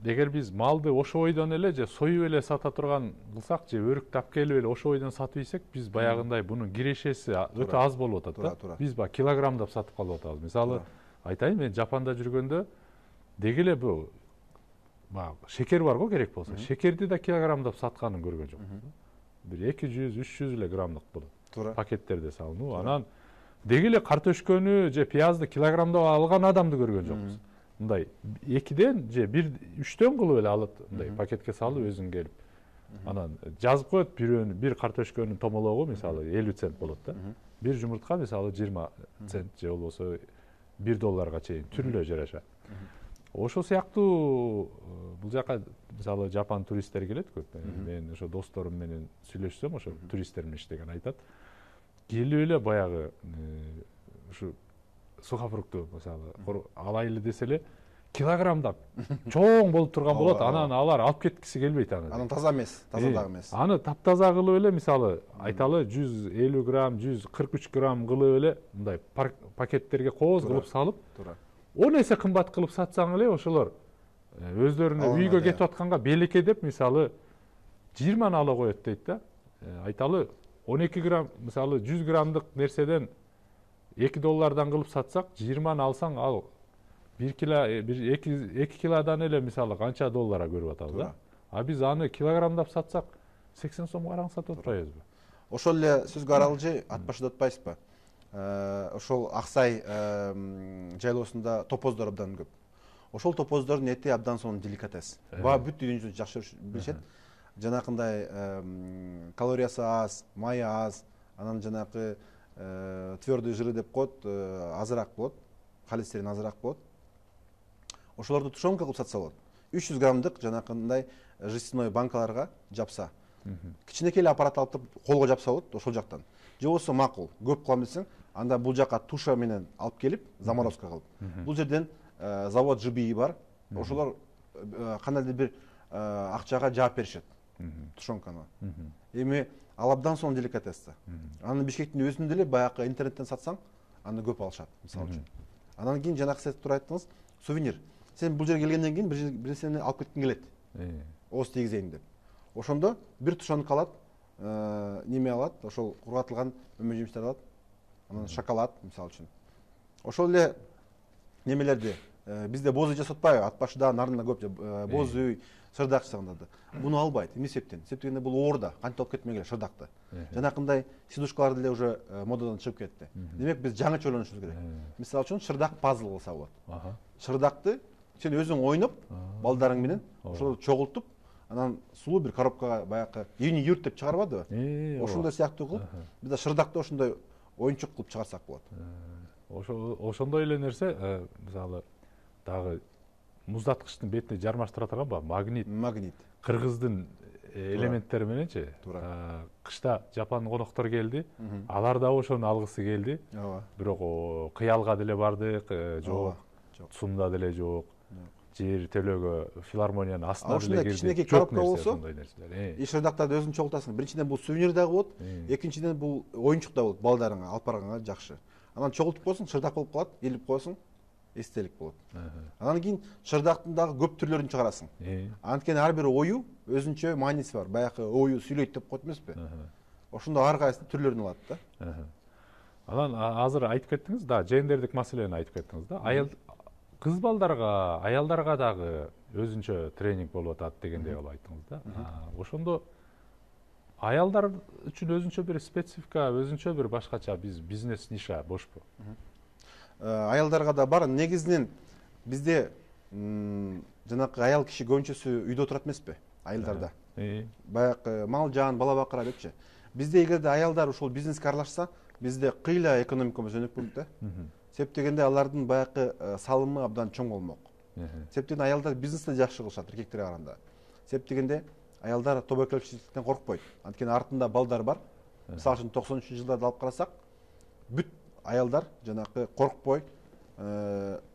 Speaker 1: эгер биз малды ошо бойдон эле же союп эле сата турган кылсак же өрүктү алып келип эле ошо бойдон сатып ийсек, биз баягындай бунун кирешеси өтө аз болуп атат да. Биз баягы килограммдап сатып калып атабыз. Мисалы айтайын, мен Жапанда жүргөндө деги эле бул баягы шекер бар го керек болсо, шекерди да килограммдап сатканын көргөн жокмун. Бир 200-300 эле граммдык болот. Пакеттерде салынуу. Анан деги эле картошкөнү же пиязды килограммдап алган адамды көргөн жокпуз. Мындай 2ден же 1-3төн кылып эле алат, мындай пакетке салып өзүң келип. Анан жазып коет бир картошкөнүн томологу мисалы 50 цент болот да. Бир жумуртка мисалы 20 цент же болбосо $1 чейин түрлүү жараша. Ошол сыяктуу бул жака мисалы Жапан туристтер келет көп. Мен ошо досторум менен сүйлөшсөм, ошо туристтер менен иштеген айтат. Келип эле баягы ушу сухофрукту мисалы алайлы десе эле килограммдап чоң болуп турган болот. Анан алар алып кеткиси келбейт аны.
Speaker 2: Анан таза эмес, таза дагы эмес.
Speaker 1: Аны таптаза кылып эле мисалы айталы 150 грамм, 143 грамм кылып эле мындай пакеттерге кооз кылып салып, 10 эсе кымбат кылып сатсаң эле ошолор өздөрүнө үйгө кетип атканга белекке деп мисалы 20 ала коет дейт да. Айталы 12 грамм мисалы 100 граммдык нерседен $2 кылып сатсак, 20 алсаң ал 2 килодан эле мисалы канча долларга көрүп атабыз да. А биз аны килограммдап сатсак 80 сом караң сатып атпайбызбы?
Speaker 2: Ошол эле сөзгө аралжы ат башыда атпайсызбы? Ошол Аксай жайлоосунда топоздор абдан көп. Ошол топоздордун эти абдан сонун деликатес. Бүт дүйнө жүзүндө жакшы билишет. Жанакындай калориясы аз, майы аз, анан жанакы твердый жиры деп коет, азыраак болот, холестерин азыраак болот. Ошолорду тушенка кылып сатса болот. 300 граммдык жанакындай жестяной банкаларга жапса. Кичинекей эле аппарат алып колго жапса болот ошол жактан. Же болбосо макул, көп кылам десең, анда бул жака туша менен алып келип, заморозка кылып. Бул жерден завод ЖБИ бар. Ошолор кандайдыр бир акчага жаап беришет. Тушенканы. Эми ал абдан сонун деликатес. Аны Бишкектин өзүндө эле баягы интернеттен сатсаң, аны көп алышат, мисалы үчүн. Анан кийин жанакы сиз туура айттыңыз, сувенир. Сен бул жерге келгенден кийин бир нерсени алып кеткиң келет. Ооз тийгизейин деп. Ошондо бир тушенка алат, неме алат, ошол кургатылган өмө-жемиштер алат. Анан шоколад, мисалы үчүн. Ошол эле немелерди бизде боз үй жасап атпайбы? Ат башыда нарында көп боз үй, шырдак жасаганда да. Буну албайт. Эмне себептен? Себептен бул оорда, кантип алып кетмегиле шырдакты. Жанакындай сидушкалар деле уже модадан чыгып кетти. Демек биз жаңыча ойлонушубуз керек. Мисалы үчүн шырдак пазл кылса болот. Шырдакты сен өзүң ойноп, балдарың менен ошолорду чогултуп, анан сулуу бир коробкага баягы юни-юрт деп чыгарбадыбы? Ошондой сыяктуу кылып, биз да шырдакты ошондой оюнчук кылып чыгарсак болот.
Speaker 1: Ошондой эле нерсе, мисалы дагы муздаткычтын бетине жармаштыра турганбы? Магнит. Кыргыздын элементтери мененчи. Кышта Жапан коноктор келди. Алар да ошону алгысы келди. Бирок кыялга деле бардык, жок. Сумда деле жок. Жер төлөгө филармониянын астына деле келди.
Speaker 2: Кичинекей коробка болсо, шырдактарды өзүң чогултасың. Биринчиден бул сувенир дагы болот, экинчиден бул оюнчук да болот, балдарыңа алып барганга жакшы. Анан чогултуп койсоң, шырдак болуп калат, илип койсоң, эстелик болот. Анан кийин шырдактын дагы көп түрлөрүн чыгарасың. Анткени ар бир ою өзүнчө мааниси бар. Баягы ою сүйлөйт деп коет эмеспи? Ошондо ар кайсы түрлөрүн алат да.
Speaker 1: Анан азыр айтып кеттиңиз да, жендердик маселени айтып кеттиңиз да. Аял кыз балдарга, аялдарга дагы өзүнчө тренинг болуп атат дегендей кылып айттыңыз да. Ошондо аялдар үчүн өзүнчө бир специфика, өзүнчө бир башкача бизнес ниша бошпу?
Speaker 2: Аялдарга да бар. Негизинен бизде жанакы аял киши көбүнчөсү үйдө отурат эмеспи? Айылдарда. Баягы мал жан, бала бакыра депчи. Бизде эгерде аялдар ушул бизнеске аралашса, бизде кыйла экономикабыз өнүк болот да. Себеп дегенде алардын баягы салымы абдан чоң болмок. Себеп дегенде аялдар бизнести жакшы кылышат эркектерге караганда. Себеп дегенде аялдар тобокелчиликтен коркпойт. Анткени артында балдар бар. Мисалы үчүн 90-жылдарды алып карасак, бүт аялдар жанакы коркпой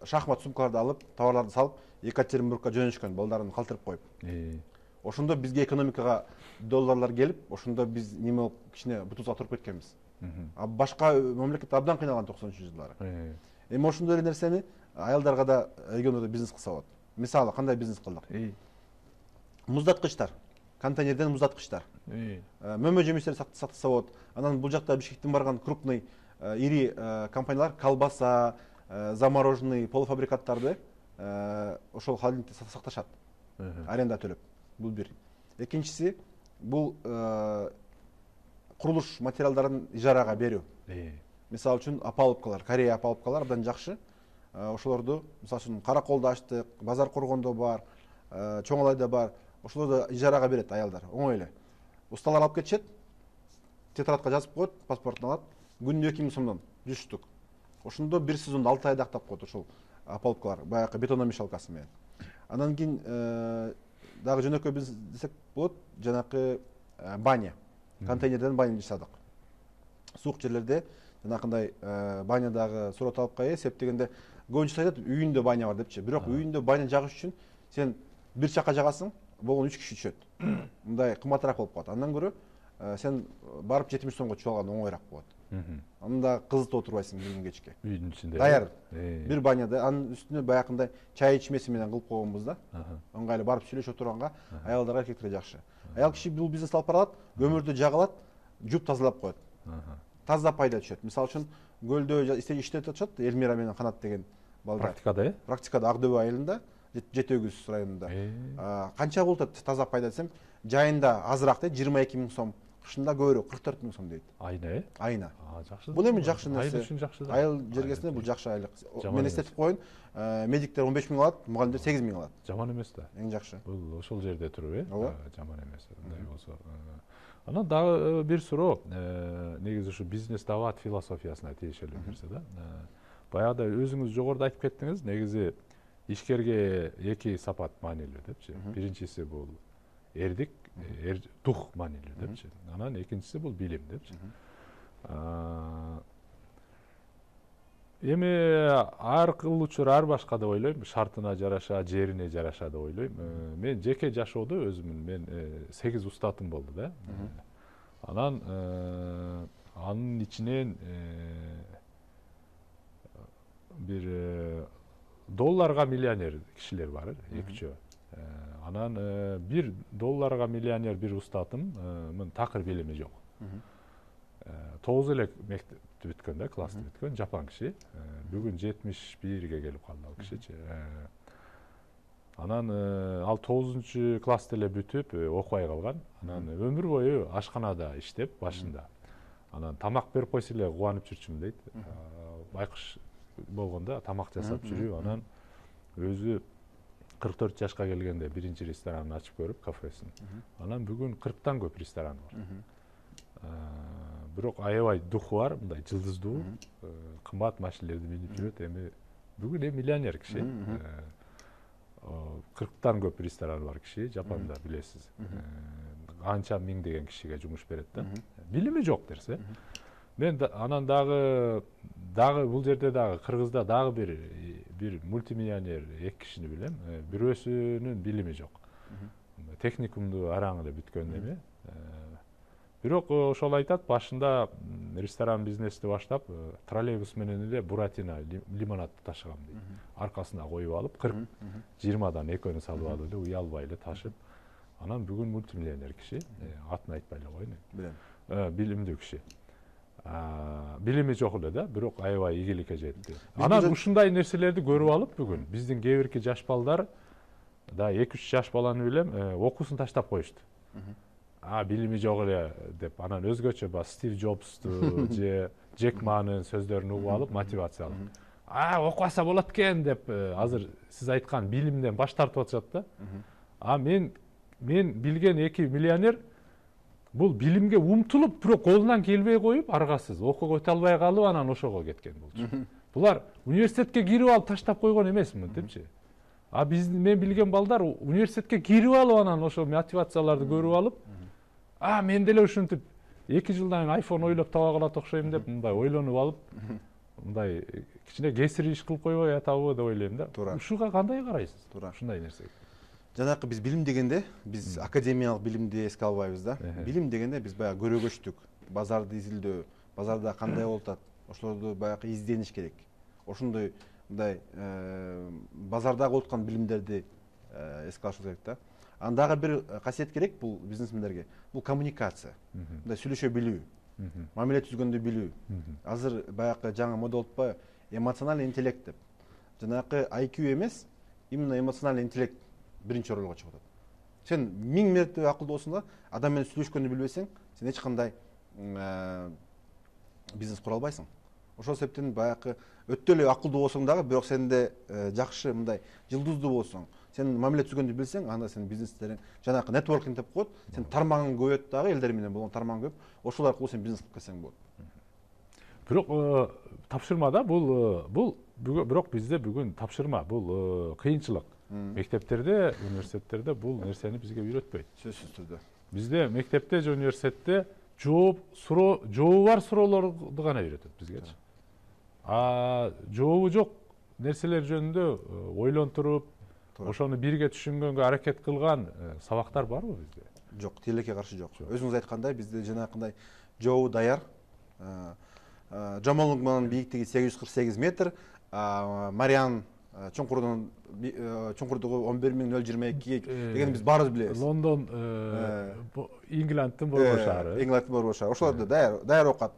Speaker 2: шахмат сумкаларды алып, товарларды салып, Екатеринбургка жөнөшкөн, балдарын калтырып коюп. Ошондо бизге экономикага долларлар келип, ошондо биз неме болуп кичине бутубузга туруп кеткенбиз. А башка мамлекет абдан кыйналган 90-жылдары. Эми ошондой эле нерсени аялдарга да региондо бизнес кылса болот. Мисалы кандай бизнес кылдык? Муздаткычтар, контейнерден муздаткычтар. Мөмө жемиштерди сатса болот. Анан бул жакта Бишкектен барган крупный ири компаниялар колбаса, замороженный полуфабрикаттарды ошол холодильникте сакташат. Аренда төлөп. Бул бир. Экинчиси бул курулуш материалдарын ижарага берүү. Мисалы үчүн опалубкалар, Корея опалубкалар абдан жакшы. Ошолорду мисалы үчүн Караколдо ачтык, Базар Коргондо бар, Чоң Алайда бар. Ошолорду ижарага берет аялдар. Оңой эле. Усталар алып кетишет, тетрадка жазып коет, паспортун алат. Күнүнө 2000 сомдон 100 штук. Ошондо бир сезондо 6 айда актап коет ошол опалубкалар, баягы бетономешалкасы менен. Анан кийин дагы жөнөкөй бизнес десек болот, жанакы баня. Контейнерден баня жасадык. Суук жерлерде жанакындай банядагы сурат ээ, себеп дегенде көбүнчөсү айтат үйүндө баня бар депчи. Бирок үйүндө баня жагыш үчүн сен бир чакка жагасың, болгону 3 киши түшөт. Мындай кымбатыраак болуп калат. Андан көрө сен барып 70 сомго түшүп алган оңоюраак болот. Анда кызытып отурбайсың бир күн кечке.
Speaker 1: Үйдүн ичинде.
Speaker 2: Даяр. Бир баняда, анын үстүнө баягындай чай ичмеси менен кылып койгонбуз да. Ыңгайлуу барып сүйлөшүп отурганга аялдарга эркектерге жакшы. Аял киши бул бизнес алып баралат, көмүрдү жагалат, жууп тазалап коет. Таза пайда түшөт. Мисалы үчүн көлдө иштеп атышат Элмира менен Канат деген балдар.
Speaker 1: Практикада,
Speaker 2: Практикада Ак Дөбө айылында, Жети Өгүз районунда. Канча болот таза пайда десем, жайында азыраак дейт, 22 000 сом. Кышында көбүрөөк 44 000 сом дейт.
Speaker 1: Айына,
Speaker 2: Айына.
Speaker 1: Жакшы.
Speaker 2: Бул эми жакшы нерсе.
Speaker 1: Айыл үчүн жакшы да.
Speaker 2: Айыл жергесинде бул жакшы айлык. Мен эстетип коеюн, медиктер 15 000 алат, мугалимдер 8 000 алат.
Speaker 1: Жаман эмес да.
Speaker 2: Эң жакшы.
Speaker 1: Бул ошол жерде туруп, жаман эмес. Мындай болсо. Анан дагы бир суроо, негизи ушу бизнес дават философиясына тиешелүү нерсе да. Баягыда өзүңүз жогоруда айтып кеттиңиз, негизи ишкерге эки сапат маанилүү депчи. Биринчиси бул эрдик, дух маанилүү депчи. Анан экинчиси бул билим депчи. Эми ар кылуучу ар башка деп ойлойм, шартына жараша, жерине жараша деп ойлойм. Мен жеке жашоодо өзүмүн мен 8 устатым болду да. Анан анын ичинен бир долларга миллионер кишилер бар, экичөө. Анан бир долларга миллионер бир устатымын такыр билими жок. 9 эле мектепти бүткөн да, классты бүткөн, жапан киши. Бүгүн 71ге келип калды ал кишичи. Анан ал 9-классты эле бүтүп окубай калган. Анан өмүр бою ашканада иштеп башында. Анан тамак берип койсо эле кубанып жүрчүмүн дейт. Байкуш болгондо тамак жасап жүрүп, анан өзү 44 жашка келгенде биринчи ресторанын ачып көрүп, кафесин. Анан бүгүн 40тан көп ресторан бар. Бирок аябай духу бар, мындай жылдыздуу, кымбат машинелерди минип жүрөт. Эми бүгүн миллионер киши. 40тан көп рестораны бар киши, Жапанда билесиз. Анча миңдеген кишиге жумуш берет да. Билими жок нерсе. Мен анан дагы бул жерде дагы Кыргызда дагы бир мультимиллионер эки кишини билем. Бирөөсүнүн билими жок. Техникумду араң эле бүткөн эме. Бирок ошол айтат, башында ресторан бизнести баштап, троллейбус менен эле Буратино лимонадты ташыгам дейт. Аркасына коюп алып, 40-20дан экөөнү салып алып эле уялбай эле ташып. Анан бүгүн мультимиллионер киши, атын айтпай эле коеюн.
Speaker 2: Билем.
Speaker 1: Билимдүү киши. билими жок эле да, бирок аябай ийгиликке жетти. Анан ушундай нерселерди көрүп алып бүгүн биздин кээ бирки жаш балдар да 2-3 жаш баланы билем, окуусун таштап коюшту. Билими жок эле деп, анан өзгөчө Стив Джобсту же Джек Манын сөздөрүн угуп алып мотивация алып, окубаса болот экен деп азыр сиз айткан билимден баш тартып атышат да. Мен билген 2 миллионер бул билимге умтулуп, бирок колунан келбей коюп, аргасыз окууга өтө албай калып, анан ошого кеткен болчу. Булар университетке кирип алып таштап койгон эмес мынтипчи. Мен билген балдар университетке кирип алып, анан ошо мотивацияларды көрүп алып, мен деле ушинтип 2 жылдан кийин iPhone ойлоп таба калат окшойм деп мындай ойлонуп алып, мындай кичине кесири иш кылып койбой атабы деп ойлойм да. Ушуга кандай карайсыз? Ушундай нерсеге.
Speaker 2: Жанакы биз билим дегенде, биз академиялык билимди эске албайбыз да. Билим дегенде биз баягы көрөгөчтүк, базарды изилдөө, базарда кандай болуп атат, ошолорду баягы издениш керек. Ошондой мындай базардагы болуп аткан билимдерди эске алышыбыз керек да. Анан дагы бир касиет керек бул бизнесмендерге. Бул коммуникация. Мындай сүйлөшө билүү, мамиле түзгөндү билүү. Азыр баягы жаңы мода болуппу, эмоциональный интеллект деп. Жанакы IQ эмес, именно эмоциональный интеллект биринчи орунга чыгып атат. Сен 1000 мертебе акылдуу болсоң да, адам менен сүйлөшкөндү билбесең, сен эч кандай бизнес кура албайсың. Ошол себептен баягы өтө эле акылдуу болсоң дагы, бирок сенде жакшы мындай жылдыздуу болсоң, сен мамиле түзгөндү билсең, анда сенин бизнестериң жанакы нетворкинг деп коет, сен тармагың көбөйөт дагы, элдер менен болгон тармагың көп, ошол аркылуу сен бизнес кылып кетсең болот.
Speaker 1: Бирок тапшырмада бул бирок бизде бүгүн тапшырма, бул кыйынчылык. Мектептерде, университеттерде бул нерсени бизге үйрөтпөйт.
Speaker 2: Сөзсүз түрдө.
Speaker 1: Бизде мектепте же университетте жообу бар суроолорду гана үйрөтөт бизгечи. Жообу жок нерселер жөнүндө ойлонтуруп, ошону бирге түшүнгөнгө аракет кылган сабактар барбы бизде?
Speaker 2: Жок, тилекке каршы жок. Өзүңүз айткандай, бизде жанакындай жообу даяр. Жамал Нугманын бийиктиги 848 метр, Мариан чуңкурдугу 11022 деген биз баарыбыз билебиз.
Speaker 1: Лондон, Ингландтын борбор шаары.
Speaker 2: Ингландтын борбор шаары. Ошолорду даяр окат.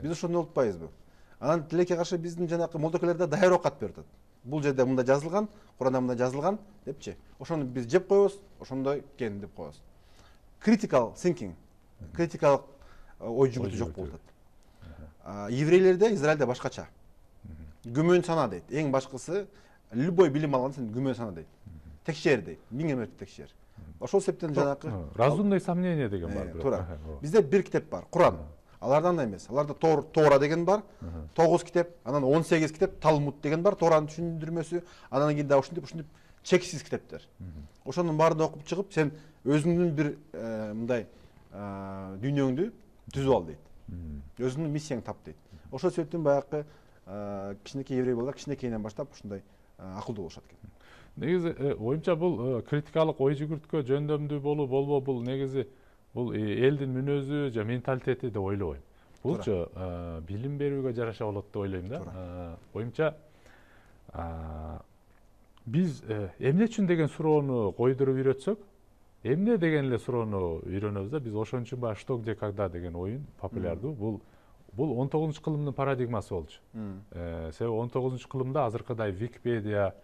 Speaker 2: Биз ошону унутпайбызбы? Анан тилекке каршы биздин жанакы молдокелер да даяр окат берип атат. Бул жерде мындай жазылган, Куранда мындай жазылган депчи. Ошону биз жеп коебуз, ошондой экен деп коебуз. Critical thinking, критикалык ой жүгүртүү жок болуп атат. Еврейлерде, Израилде башкача. Күмөн сана дейт. Эң башкысы любой билим алганда сен күмөн сана дейт. Текшер дейт. 1000 мертеп текшер. Ошол себептен жанакы
Speaker 1: разумный сомнение деген бар.
Speaker 2: Туура. Бизде бир китеп бар, Куран. Аларда андай эмес. Аларда Тора деген бар, 9 китеп, анан 18 китеп, Талмуд деген бар, Торанын түшүндүрмөсү, анан кийин дагы ушинтип чексиз китептер. Ошонун баарын окуп чыгып, сен өзүңдүн бир мындай дүйнөңдү түзүп ал дейт. Өзүңдүн миссияңды тап дейт. Ошол себептен баягы кичинекей еврей балдар кичинекейинен баштап ушундай акылдуу болушат экен.
Speaker 1: Негизи оюмча бул критикалык ой жүгүрткө жөндөмдүү болуу болбоо бул негизи бул элдин мүнөзү же менталитети деп ойлобойм. Булчу билим берүүгө жараша болот деп ойлойм да. Оюмча биз эмне үчүн деген суроону койдуруп үйрөтсөк, эмне деген эле суроону үйрөнөбүз да. Биз ошон үчүн баягы что, где, когда деген оюн популярдуу. Бул 19-кылымдын парадигмасы болчу. Себеби 19-кылымда азыркыдай Википедия,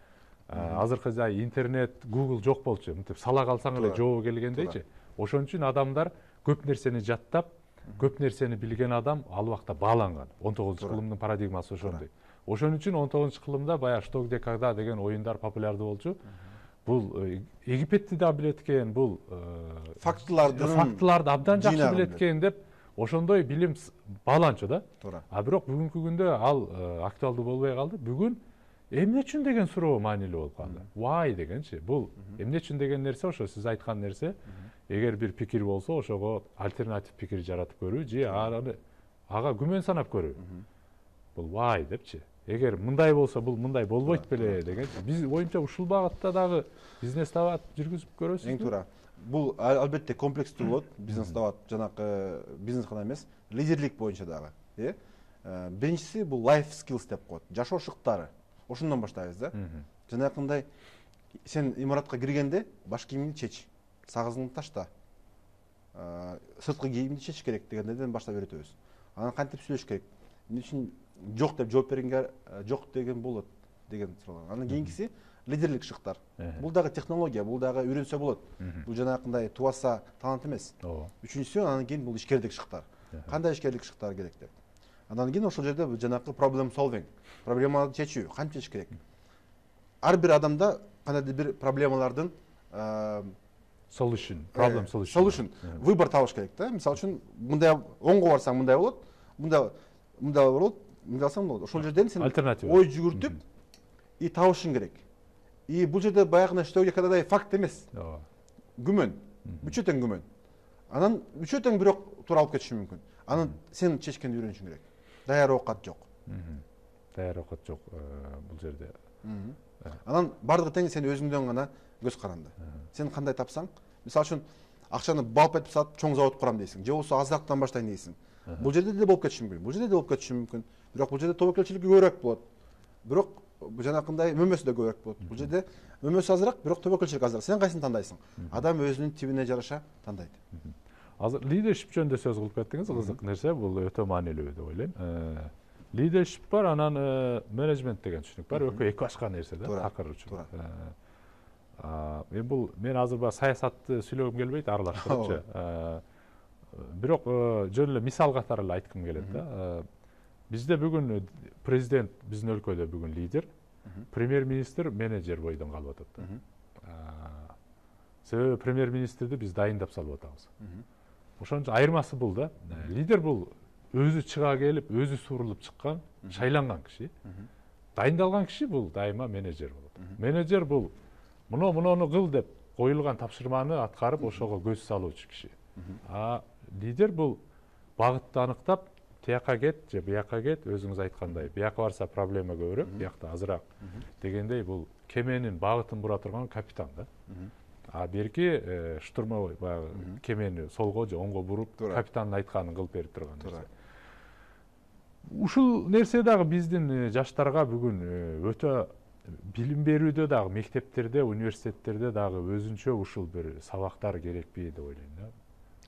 Speaker 1: азыркыдай интернет, Google жок болчу. Мынтип сала калсаң эле жообу келгендейчи. Ошон үчүн адамдар көп нерсени жаттап, көп нерсени билген адам ал убакта бааланган. 19-кылымдын парадигмасы ошондой. Ошон үчүн 19-кылымда баягы что, где, когда деген оюндар популярдуу болчу. Бул Египетти да билет экен, бул фактыларды абдан жакшы билет экен деп ошондой билим бааланчу да. Бирок бүгүнкү күндө ал актуалдуу болбой калды. Бүгүн эмне үчүн деген суроо маанилүү болуп калды. Why дегенчи. Бул эмне үчүн деген нерсе ошо сиз айткан нерсе. Эгер бир пикир болсо, ошого альтернатив пикир жаратып көрүү же ага күмөн санап көрүү. Бул why депчи. Эгер мындай болсо, бул мындай болбойт беле дегенчи. Биз оюмча ушул багытта дагы бизнес табат жүргүзүп көрөсүзбү?
Speaker 2: Эң туура. Бул албетте комплекстүү болот. Бизнес табат жанакы бизнес гана эмес, лидерлик боюнча дагы. Биринчиси бул life skills деп коет. Жашоо шыктары. Ошондон баштайбыз да. Жанакындай сен имаратка киргенде баш кийимиңди чеч, сагызыңды ташта. Сырткы кийимди чечиш керек дегендерден баштап үйрөтөбүз. анан кантип сүйлөш керек, эмне үчүн жок деп жооп бергенге жок деген болот деген суроолор. Анан кийинкиси лидерлик шыктар. Бул дагы технология, бул дагы үйрөнсө болот. Бул жанагындай тубаса талант эмес. Үчүнчүсү анан кийин бул ишкердик шыктар. Кандай ишкердик шыктар керек деп. Андан кийин ошол жерде жанагы проблем solving, проблеманы чечүү, кантип чечиш керек. Ар бир адамда кандайдыр бир проблемалардын
Speaker 1: solution, problem solution.
Speaker 2: Выбор табыш керек да. Мисалы үчүн мындай оңго барсаң мындай болот, мындай болот, мындай алсаң болот. Ошол жерден сен ой жүгүртүп и табышың керек. И бул жерде баягы штөөгө кадайдай факт эмес. Күмөн. Үчөө тең күмөн. Анан үчөө тең бирок туура алып кетиши мүмкүн. Анан сен чечкенди үйрөнүшүң керек. Даяр оокат жок.
Speaker 1: Даяр оокат жок бул жерде.
Speaker 2: Анан бардыгы тең сен өзүңдөн гана көз каранды. Сен кандай тапсаң, мисалы үчүн акчаны балп этип сатып чоң завод курам дейсиң, же болбосо азырактан баштайын дейсиң. Бул жерде деле болуп кетиши мүмкүн. Бул жерде деле болуп кетиши мүмкүн. Бирок бул жерде тобокелчилик көбүрөөк болот. Бирок жанакындай мөмөсү да көбүрөөк болот. Бул жерде мөмөсү азыраак, бирок тобокелчилик азыраак. Сен кайсын тандайсың? Адам өзүнүн тибине жараша тандайт.
Speaker 1: Азыр лидершип жөнүндө сөз кылып кеттиңиз, кызык нерсе, бул өтө маанилүү деп ойлойм. Лидершип бар, анан менеджмент деген түшүнүк бар, экөө эки башка нерсе да, такыр үчүн. Бул мен азыр баягы саясатты сүйлөгүм келбейт, аралаштырыпчы. Бирок жөн эле мисал катары эле айткым келет да. Бизде бүгүн президент, биздин өлкөдө бүгүн лидер, премьер-министр менеджер бойдон калып атат. Себеби премьер-министрди биз дайындап салып атабыз. Ошон үчүн айырмасы бул да. Лидер бул өзү чыга келип, өзү сурулуп чыккан, шайланган киши. Дайындалган киши бул дайыма менеджер болот. Менеджер бул муну кыл деп коюлган тапшырманы аткарып, ошого көз салуучу киши. Лидер бул багытты аныктап, тияка кет же бияка кет, өзүңүз айткандай, бияка барса проблема көбүрөөк, биякта азыраак дегендей бул кеменин багытын бура турган капитан да. Берки штурмовой баягы кемени солго же оңго буруп, капитандын айтканын кылып берип турган нерсе. Ушул нерсе дагы биздин жаштарга бүгүн өтө билим берүүдө дагы, мектептерде, университеттерде дагы өзүнчө ушул бир сабактар керекпи деп ойлойм да.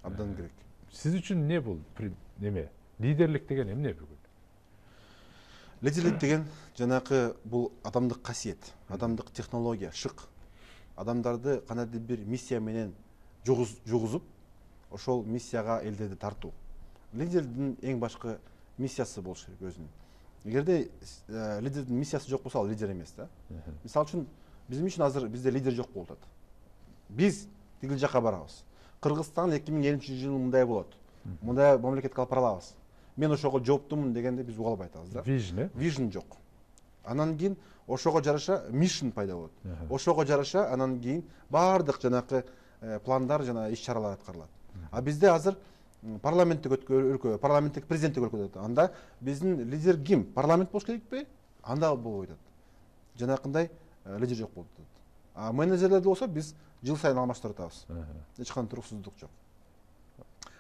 Speaker 2: Абдан керек.
Speaker 1: Сиз үчүн эмне бул? Неме? Лидерлик деген эмне бүгүн?
Speaker 2: Лидерлик деген жанакы бул адамдык касиет, адамдык технология, шык. Адамдарды кандайдыр бир миссия менен жугузуп, ошол миссияга элдерди тартуу. Лидердин эң башкы миссиясы болуш керек өзүнүн. Эгерде лидердин миссиясы жок болсо, ал лидер эмес да. Мисалы үчүн биздин үчүн азыр бизде лидер жок болуп атат. Биз тигил жака барабыз. Кыргызстан 2050-жылы мындай болот. Мындай мамлекетке алып бара алабыз. Мен ошого жооптумун дегенде биз уга албай атабыз да. Vision жок. Анан кийин ошого жараша mission пайда болот. Ошого жараша анан кийин баардык жанакы пландар жана иш-чаралар аткарылат. Бизде азыр парламенттик өлкө, парламенттик президенттик өлкөдө анда биздин лидер ким? Парламент болуш керекпи? Анда болбойт атат. Жанакындай лидер жок болуп атат. Менеджерлерди болсо биз жыл сайын алмаштырып атабыз. Эч кандай туруксуздук жок.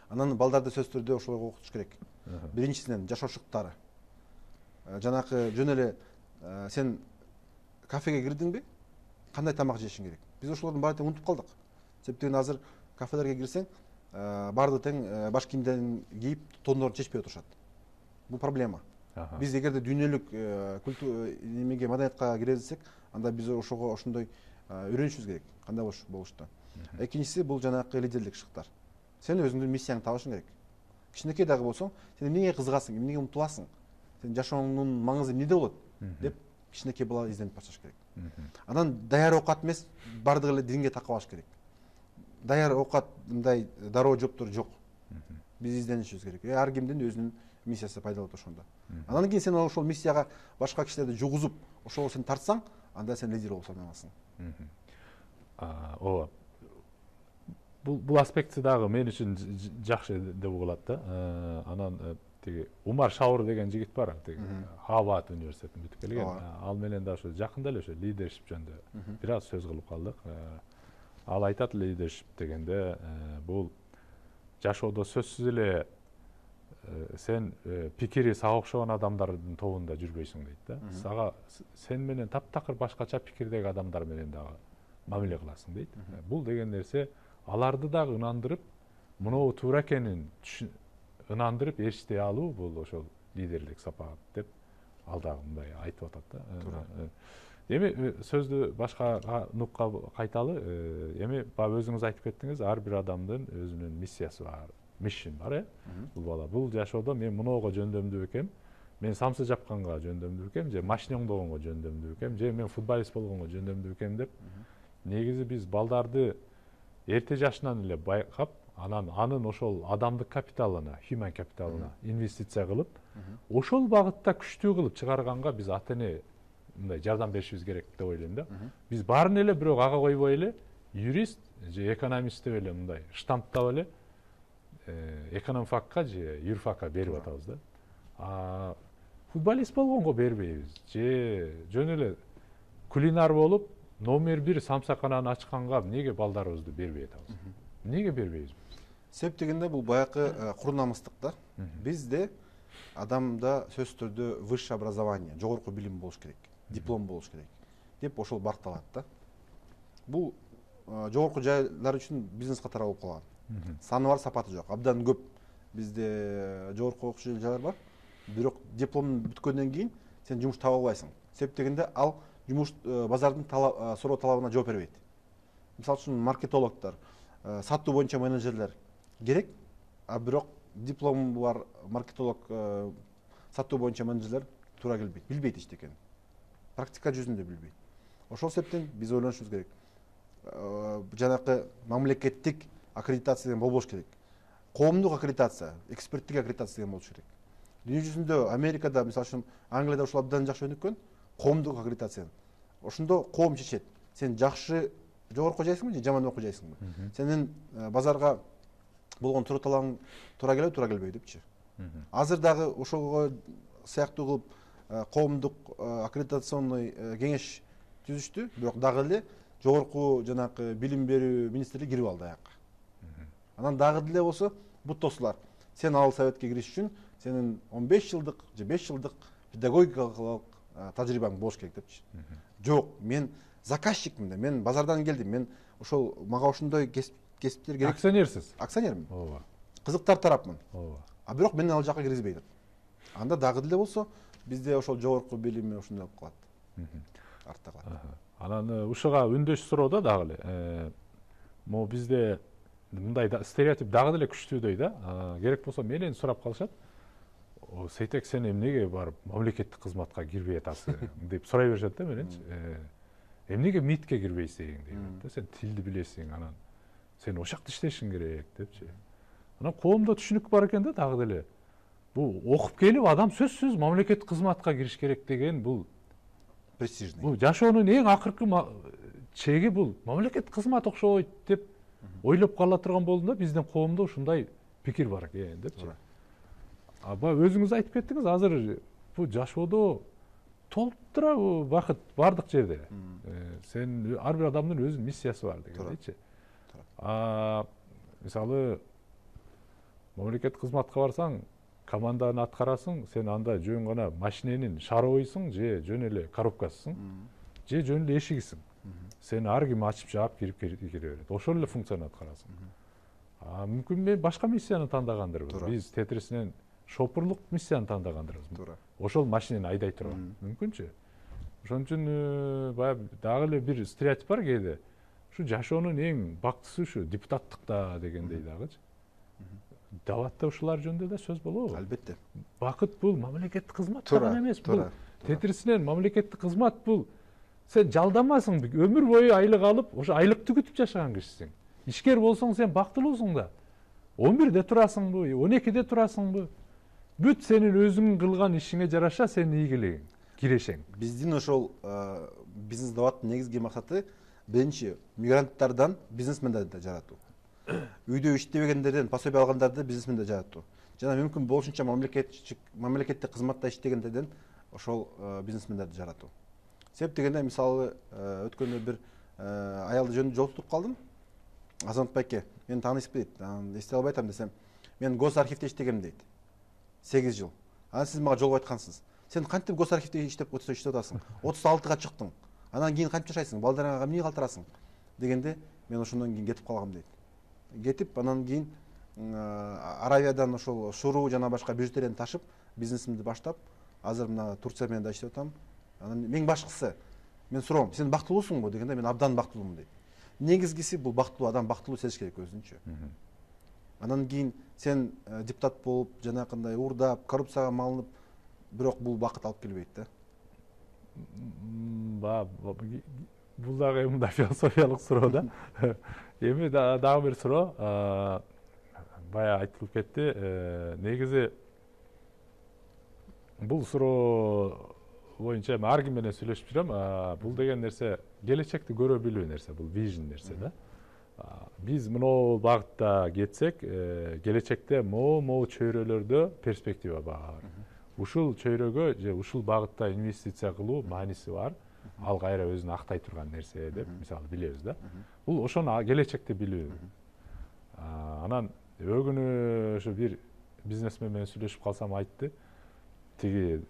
Speaker 2: Анан балдарды сөзсүз түрдө ошолорго окутуш керек. Биринчисинен жашоо шыктары. Жанакы жөн эле сен кафеге кирдиңби? Кандай тамак жешиң керек? Биз ошолордун баарын унутуп калдык. Себептен азыр кафелерге кирсең, баарды тең баш кийимдерин кийип, тондорун чечпей отурушат. Бул проблема. Биз эгерде дүйнөлүк немеге маданиятка кире десек, анда биз ошого ошондой үйрөнүшүбүз керек. Кандай болушту. Экинчиси бул жанакы лидерлик шыктар. Сен өзүңдүн миссияңды табышың керек. Кичинекей дагы болсоң, сен эмнеге кызыгасың, эмнеге умтуласың? Сен жашооңдун маңызы эмнеде болот деп кичинекей бала изденип башташ керек. Анан даяр оокат эмес, бардыгы эле динге такап алыш керек. Даяр оокат мындай дароо жооптор жок. Биз изденишибиз керек. Ар кимдин өзүнүн миссиясы пайда болот ошондо. Анан кийин сен ошол миссияга башка кишилерди жугузуп, ошого сен тартсаң, анда сен лидер болуп саналасың.
Speaker 1: Ооба. Бул аспекти дагы мен үчүн жакшы деп угулат да. Анан тиги Умар Шаур деген жигит бар, тиги Харвард университетин бүтүп келген. Ал менен да ошо жакында эле ошо лидершип жөнүндө бир аз сөз кылып калдык. Ал айтат, лидершип дегенде бул жашоодо сөзсүз эле сен пикири сага окшогон адамдардын тобунда жүрбөйсүң дейт да. Сага сен менен таптакыр башкача пикирдеги адамдар менен дагы мамиле кыласың дейт. Бул деген нерсе аларды дагы ынандырып, мынау туура экенин ынандырып ээрчитей алуу бул ошол лидерлик сапат деп ал дагы мындай айтып атат да. Эми сөздү башка нукка кайталы. Эми баягы өзүңүз айтып кеттиңиз, ар бир адамдын өзүнүн миссиясы бар, миссиясы бар, бул бала. Бул жашоодо мен муноого жөндөмдүү экем, мен самсы жапканга жөндөмдүү экем, же машина оңдогонго жөндөмдүү экем, же мен футболист болгонго жөндөмдүү экем деп негизи биз балдарды эрте жашынан эле байкап, анын ошол адамдык капиталына, human капиталына инвестиция кылып, ошол багытта күчтүү кылып чыгарганга биз ата-эне мындай жардам беришибиз керек деп ойлойм да. Биз баарын эле бирок ага койбой эле юрист же экономист деп эле мындай штамптап эле экономфакка же юрфакка берип атабыз да. Футболист болгонго бербейбиз, же жөн эле кулинар болуп номер 1 самсакананы ачканга эмнеге балдарыбызды бербей атабыз? Эмнеге бербейбиз?
Speaker 2: Себеп дегенде бул баягы кур намыстык да. Бизде адамда сөзсүз түрдө высшее образование, жогорку билим болуш керек, диплом болуш керек деп ошол баркталат да. Бул жогорку жайлар үчүн бизнес катары болуп калган. Саны бар, сапаты жок. Абдан көп бизде жогорку окуучу жайлар бар. Бирок диплом бүткөндөн кийин сен жумуш таба албайсың. Себеп дегенде ал жумуш базардын суроо талабына жооп бербейт. Мисалы үчүн маркетологдор, сатуу боюнча менеджерлер керек, а бирок диплому бар маркетолог, сатуу боюнча менеджерлер туура келбейт, билбейт эчтекени. Практика жүзүндө билбейт. Ошол себептен биз ойлонушубуз керек. Жанакы мамлекеттик аккредитация деген болбош керек. Коомдук аккредитация, эксперттик аккредитация деген болуш керек. Дүйнө жүзүндө Америкада, мисалы үчүн Англияда ушул абдан жакшы өнүккөн, коомдук аккредитация. Ошондо коом чечет. Сен жакшы жогорку окуйсуңбу же жаман окуйсуңбу? Сенин базарга болгон туруу талабың туура келеби, туура келбейби депчи. Азыр дагы ошого сыяктуу кылып коомдук аккредитационный кеңеш түзүштү, бирок дагы эле жогорку жанакы билим берүү министрлиги кирип алды аякка. Анан дагы деле болсо бут тосулар. Сен ал советке кириш үчүн сенин 15 жылдык же 5 жылдык педагогикалык тажрыйбаң болуш керек депчи. Жок, мен заказчикмин да, мен базардан келдим, мен ошол мага ошондой кесиптер керек.
Speaker 1: Акционерсиз?
Speaker 2: Акционермин.
Speaker 1: Ооба.
Speaker 2: Кызыктар тарапмын.
Speaker 1: Ооба.
Speaker 2: А бирок мени ал жака киргизбей деп. Анда дагы деле болсо бизде ошол жогорку билими ошондой болуп калат. Артта калат.
Speaker 1: Анан ушуга үндөш суроодо дагы эле могу бизде мындай стереотип дагы деле күчтүүдөй да. Керек болсо менен сурап калышат. Сейтек, сен эмнеге барып мамлекеттик кызматка кирбей атасың деп сурай беришет да мененчи. Эмнеге МИДке кирбейсиң дейт да. Сен тилди билесиң, анан сен ошакта иштешиң керек депчи. Анан коомдо түшүнүк бар экен да дагы деле. Бул окуп келип адам сөзсүз мамлекеттик кызматка кириш керек деген бул
Speaker 2: престижный.
Speaker 1: Бул жашоонун эң акыркы чеги бул мамлекеттик кызмат окшойт деп ойлоп кала турган болдум да, биздин коомдо ушундай пикир бар экен депчи. Өзүңүз айтып кеттиңиз, азыр бул жашоодо толтура бакыт бардык жерде. Сен ар бир адамдын өзүнүн миссиясы бар дегендейчи. Мисалы мамлекеттик кызматка барсаң, команданы аткарасың, сен анда жөн гана машиненин шаровыйсың, же жөн эле коробкасысың, же жөн эле эшигисиң. Сен ар ким ачып жаап кире берет. Ошол эле функцияны аткарасың. Мүмкүн мен башка миссияны тандагандырбыз. Биз тетрисинен шопурлук миссияны тандагандырбыз. Ошол машинени айдай турган. Мүмкүнчү. Ошон үчүн баягы дагы эле бир стереотип бар кээде. Ушу жашоонун эң бактысы ушу депутаттыкта дегендей дагычы. Даватта ушулар жөнүндө да сөз болобу?
Speaker 2: Албетте.
Speaker 1: Бакыт бул мамлекеттик кызмат гана эмес, бул тетрисинен мамлекеттик кызмат бул сен жалданмасың, өмүр бою айлык алып, ошо айлыкты күтүп жашаган кишисиң. Ишкер болсоң сен бактылуусуң да. 11-де турасыңбы, 12-де турасыңбы? Бүт сенин өзүң кылган ишиңе жараша сенин ийгилигиң, кирешең.
Speaker 2: Биздин ошол бизнес даваттын негизги максаты биринчи мигранттардан бизнесмендерди жаратуу. Үйдө иштебегендерден пособие алгандарды бизнесмендер жаратуу. Жана мүмкүн болушунча мамлекеттик кызматта иштегендерден ошол бизнесмендерди жаратуу. Себеп дегенде мисалы өткөндө бир аялды жөнүндө жолуктуруп калдым. Азамат байке, мени таанысып дейт. Эстей албай атам десем, мен госархивде иштегем дейт. 8 жыл. Анан сиз мага жолугуп айткансыз. Сен кантип госархивде иштеп атасың? 36-га чыктың. Анан кийин кантип жашайсың? Балдарыңа эмне калтырасың? Дегенде мен ошондон кийин кетип калгам дейт. Кетип, анан кийин Аравиядан ошол шуруу жана башка бижутерияны ташып бизнесимди баштап азыр мына Турция менен да иштеп атам. Анан эң башкысы мен суроом, сен бактылуусуңбу дегенде мен абдан бактылуумун дейт. Негизгиси бул бактылуу адам бактылуу сезиш керек өзүнчө. Анан кийин сен депутат болуп жанакындай уурдап коррупцияга малынып, бирок бул бакыт алып келбейт да.
Speaker 1: Бул дагы мындай философиялык суроо да. Эми дагы бир суроо, бая айтылып кетти. Негизи бул суроо боюнча ар ким менен сүйлөшүп жүрөм. Бул деген нерсе келечекти көрө билүү нерсе, бул vision нерсе да. Биз мынау багытта кетсек, келечекте могу чөйрөлөрдө перспектива бар. Ушул чөйрөгө же ушул багытта инвестиция кылуу мааниси бар. Ал кайра өзүн актай турган нерсе деп мисалы билебиз да. Бул ошону келечекте билүү. Анан өгүнү ошо бир бизнесмен менен сүйлөшүп калсам айтты. Тиги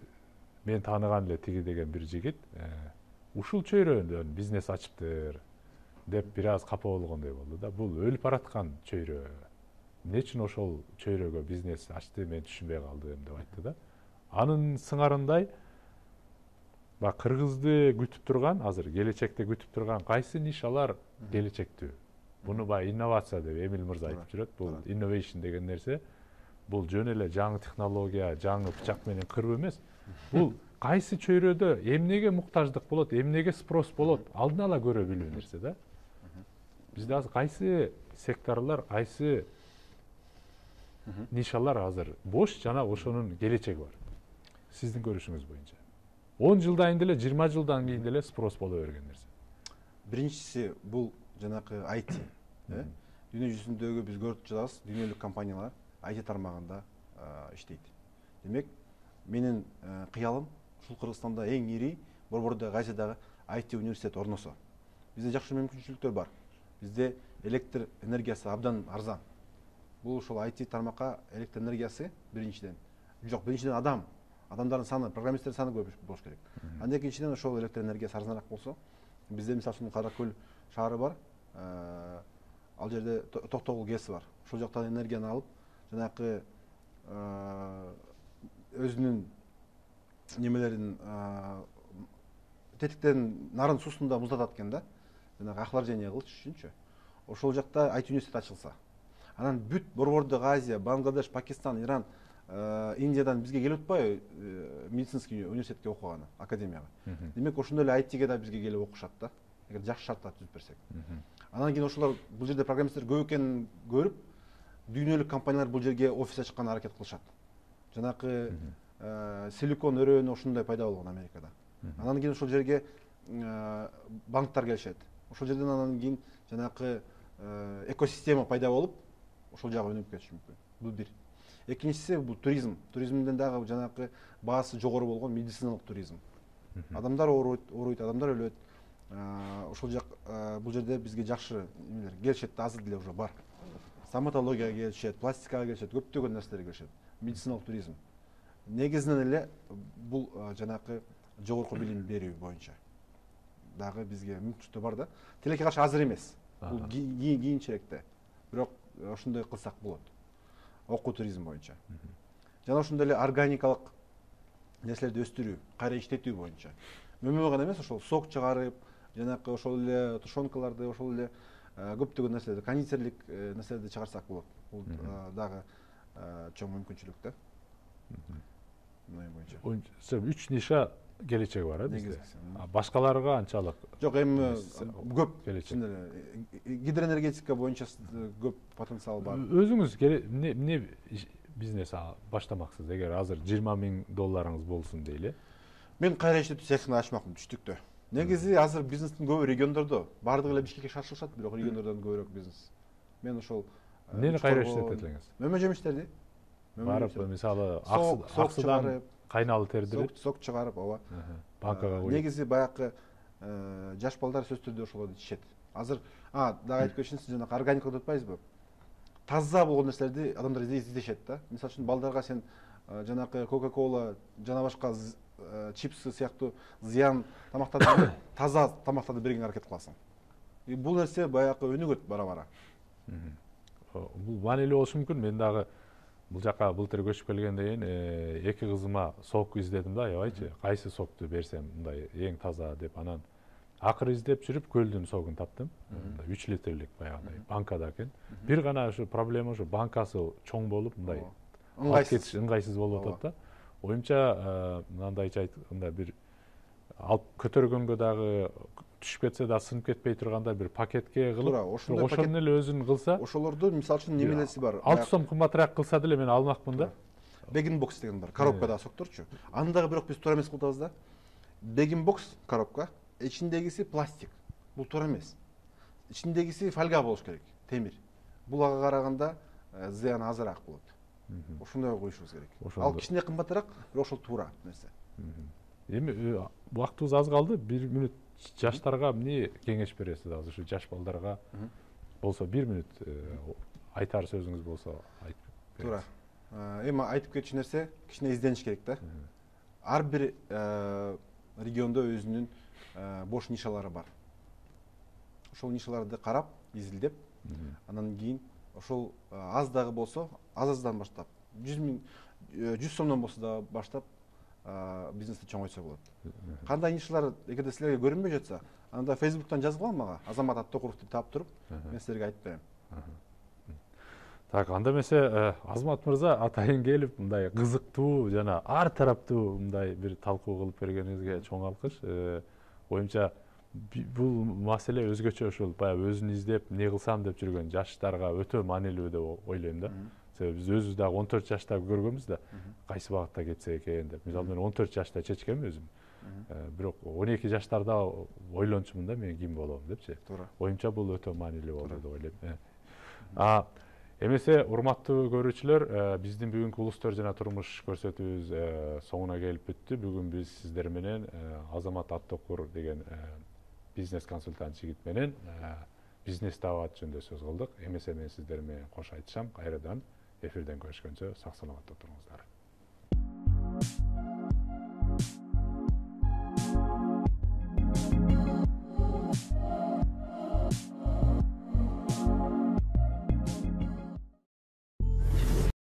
Speaker 1: мен тааныган эле тиги деген бир жигит ушул чөйрөдөн бизнес ачыптыр деп бир аз капа болгондой болду да. Бул өлүп бараткан чөйрө. Эмне үчүн ошол чөйрөгө бизнес ачты, мен түшүнбөй калдым деп айтты да. Анын сыңарындай Кыргызды күтүп турган, азыр келечекте күтүп турган кайсы нишалар келечектүү? Буну инновация деп Эмил мырза айтып жүрөт. Бул innovation деген нерсе, бул жөн эле жаңы технология, жаңы бычак менен кырып эмес. Бул кайсы чөйрөдө эмнеге муктаждык болот, эмнеге спрос болот, алдын ала көрө билүү нерсе да. Бизде азыр кайсы секторлор, кайсы нишалар азыр бош жана ошонун келечеги бар. Сиздин көрүшүңүз боюнча. 10 жылдан деле, 20 жылдан кийин деле спрос боло берген нерсе.
Speaker 2: Биринчиси бул жанакы IT. Дүйнө жүзүндөгү биз көрүп жатабыз, дүйнөлүк компаниялар IT тармагында иштейт. Демек, менин кыялым ушул Кыргызстанда эң ири борбордогу Азиядагы IT университет орносо. Бизде жакшы мүмкүнчүлүктөр бар. Бизде электр энергиясы абдан арзан. Бул ошол IT тармакка электр энергиясы биринчиден. Биринчиден адамдардын саны, программисттердин саны көп болуш керек. Андан экинчиден ошол электр энергиясы арзаныраак болсо, бизде мисалы үчүн Кара Көл шаары бар. Ал жерде Токтогул ГЭС бар. Ошол жактан энергияны алып, жанакы өзүнүн немелерин тетиктерин нарын суусунда муздатат экен да. Жанагы охлаждение кылыш үчүнчү. Ошол жакта IT университет ачылса. Анан бүт борбордогу Азия, Бангладеш, Пакистан, Иран, Индиядан бизге келип атпайбы медицинский университетке окуганы, академияга. Демек ошондой эле ITге да бизге келип окушат да. Эгер жакшы шарттар түзүп берсек. Анан кийин ошолор бул жерде программисттер көп экенин көрүп, дүйнөлүк компаниялар бул жерге офис ачканга аракет кылышат. Жанакы силикон өрөөнү ошондой пайда болгон Америкада. Анан кийин ошол жерге банктар келишет. Ошол жерден анан кийин жанакы экосистема пайда болуп, ошол жагы өнүгүп кетиши мүмкүн. Бул бир. Экинчиси бул туризм. Туризмден дагы жанакы баасы жогору болгон медициналык туризм. Адамдар ооруйт, адамдар өлөт. Ошол жак бул жерде бизге жакшы эмелер келишет, азыр деле уже бар. Стоматологияга келишет, пластикага келишет, көптөгөн нерселерге келишет. Медициналык туризм. Негизинен эле бул жанакы жогорку билим берүү боюнча дагы бизге мүмкүнчүлүктөр бар да. Тилекке каршы азыр эмес. Бул кийинчерээкте. Бирок ошондой кылсак болот. Окуу туризм боюнча. Жана ошондой эле органикалык нерселерди өстүрүү, кайра иштетүү боюнча. Мөмө гана эмес, ошол сок чыгарып, жанакы ошол эле тушенкаларды, ошол эле көптөгөн нерселерди, кондитерлик нерселерди чыгарсак болот. Бул дагы чоң мүмкүнчүлүк да. Мына боюнча.
Speaker 1: 3 ниша келечеги бар бизде. Башкаларга анчалык
Speaker 2: жок, эми көп гидроэнергетика боюнча көп потенциал бар.
Speaker 1: Өзүңүз эмне бизнес баштамаксыз? Эгер азыр $20,000 болсун дейли.
Speaker 2: Мен кайра иштетүү цехин ачмакмын түштүктө. Негизи азыр бизнестин көбү региондордо, бардыгы эле Бишкекке шашылышат, бирок региондордон көбүрөөк бизнес. Мен ошол
Speaker 1: эмнени кайра иштетет элеңиз?
Speaker 2: Мөмө жемиштерди.
Speaker 1: Барып, мисалы, аксыдан кайналы тердирип,
Speaker 2: сок чыгарып, ооба.
Speaker 1: Банкага коюп.
Speaker 2: Негизи баягы жаш балдар сөзсүз түрдө ошолорду ичишет. Азыр дагы айтып кетишин, сиз жанагы органикалык деп атпайсызбы? Таза болгон нерселерди адамдар издешет да. Мисалы үчүн балдарга сен жанакы Coca-Cola, жана башка чипсы сыяктуу зыян тамактарды таза тамактарды бергенге аракет кыласың. Бул нерсе баягы өнүгөт бара-бара.
Speaker 1: бул маанилүү болушу мүмкүн. Мен дагы бул жака былтыр көчүп келгенден кийин 2 кызыма сок издедим да, аябайчы. Кайсы сокту берсем мындай эң таза деп, анан акыры издеп жүрүп көлдүн согун таптым. 3 литрлик баягындай банкада экен. Бир гана ушу проблема ушу банкасы чоң болуп мындай ыңгайсыз болуп атат да. Оюмча мындайча айтканда бир алып көтөргөнгө дагы түшүп кетсе да сынып кетпей турганда бир пакетке кылып, ошону эле өзүн кылса,
Speaker 2: ошолорду мисалы үчүн немелеси бар.
Speaker 1: 6 сом кымбатыраак кылса деле мен алмакмын да.
Speaker 2: Бегин бокс деген бар, коробкадагы сокторчу. Аны дагы бирок биз туура эмес кылып атабыз да. Бегин бокс коробка, ичиндегиси пластик. Бул туура эмес. Ичиндегиси фольга болуш керек, темир. Бул ага караганда зыяны азыраак болот. Ошондой коюшубуз керек. Ал кичине кымбатыраак, бирок ошол туура нерсе.
Speaker 1: Эми убактыбыз аз калды. 1 мүнөт жаштарга эмне кеңеш бересиз азыр ушу жаш балдарга? Болсо 1 мүнөт айтар сөзүңүз болсо айтып бериңиз.
Speaker 2: Туура. Эми айтып кетчү нерсе кичине издениш керек да. Ар бир региондо өзүнүн бош нишалары бар. Ошол нишаларды карап, изилдеп, анан кийин ошол аз дагы болсо, аз-аздан баштап, 100 сомдон болсо да баштап бизнести чоңойтса болот. Кандай нишалар эгерде силерге көрүнбөй жатса, анда Facebook'тан жазып ал мага, Азамат Аттокуров деп таап туруп, мен силерге айтып берем.
Speaker 1: Так, анда эмесе Азамат мырза атайын келип, мындай кызыктуу жана ар тараптуу мындай бир талкуу кылып бергениңизге чоң алкыш. Оюмча бул маселе өзгөчө ошол баягы өзүн издеп, эмне кылсам деп жүргөн жаштарга өтө маанилүү деп ойлойм да. Себеби биз өзүбүз дагы 14 жашта көргөнбүз да, кайсы багытта кетсе экен деп. Мисалы мен 14 жашта чечкем өзүм. Бирок 12 жаштарда ойлончумун да, мен ким болом депчи. Оюмча бул өтө маанилүү болду деп ойлойм. Эмесе урматтуу көрүүчүлөр, биздин бүгүнкү улустөр жана турмуш көрсөтүүбүз соңуна келип бүттү. Бүгүн биз сиздер менен Азамат Аттокур деген бизнес консультант жигит менен бизнес даават жөнүндө сөз кылдык. Эмесе мен сиздер менен кош айтышам. Кайрадан эфирден көрүшкөнчө сак саламатта туруңуздар.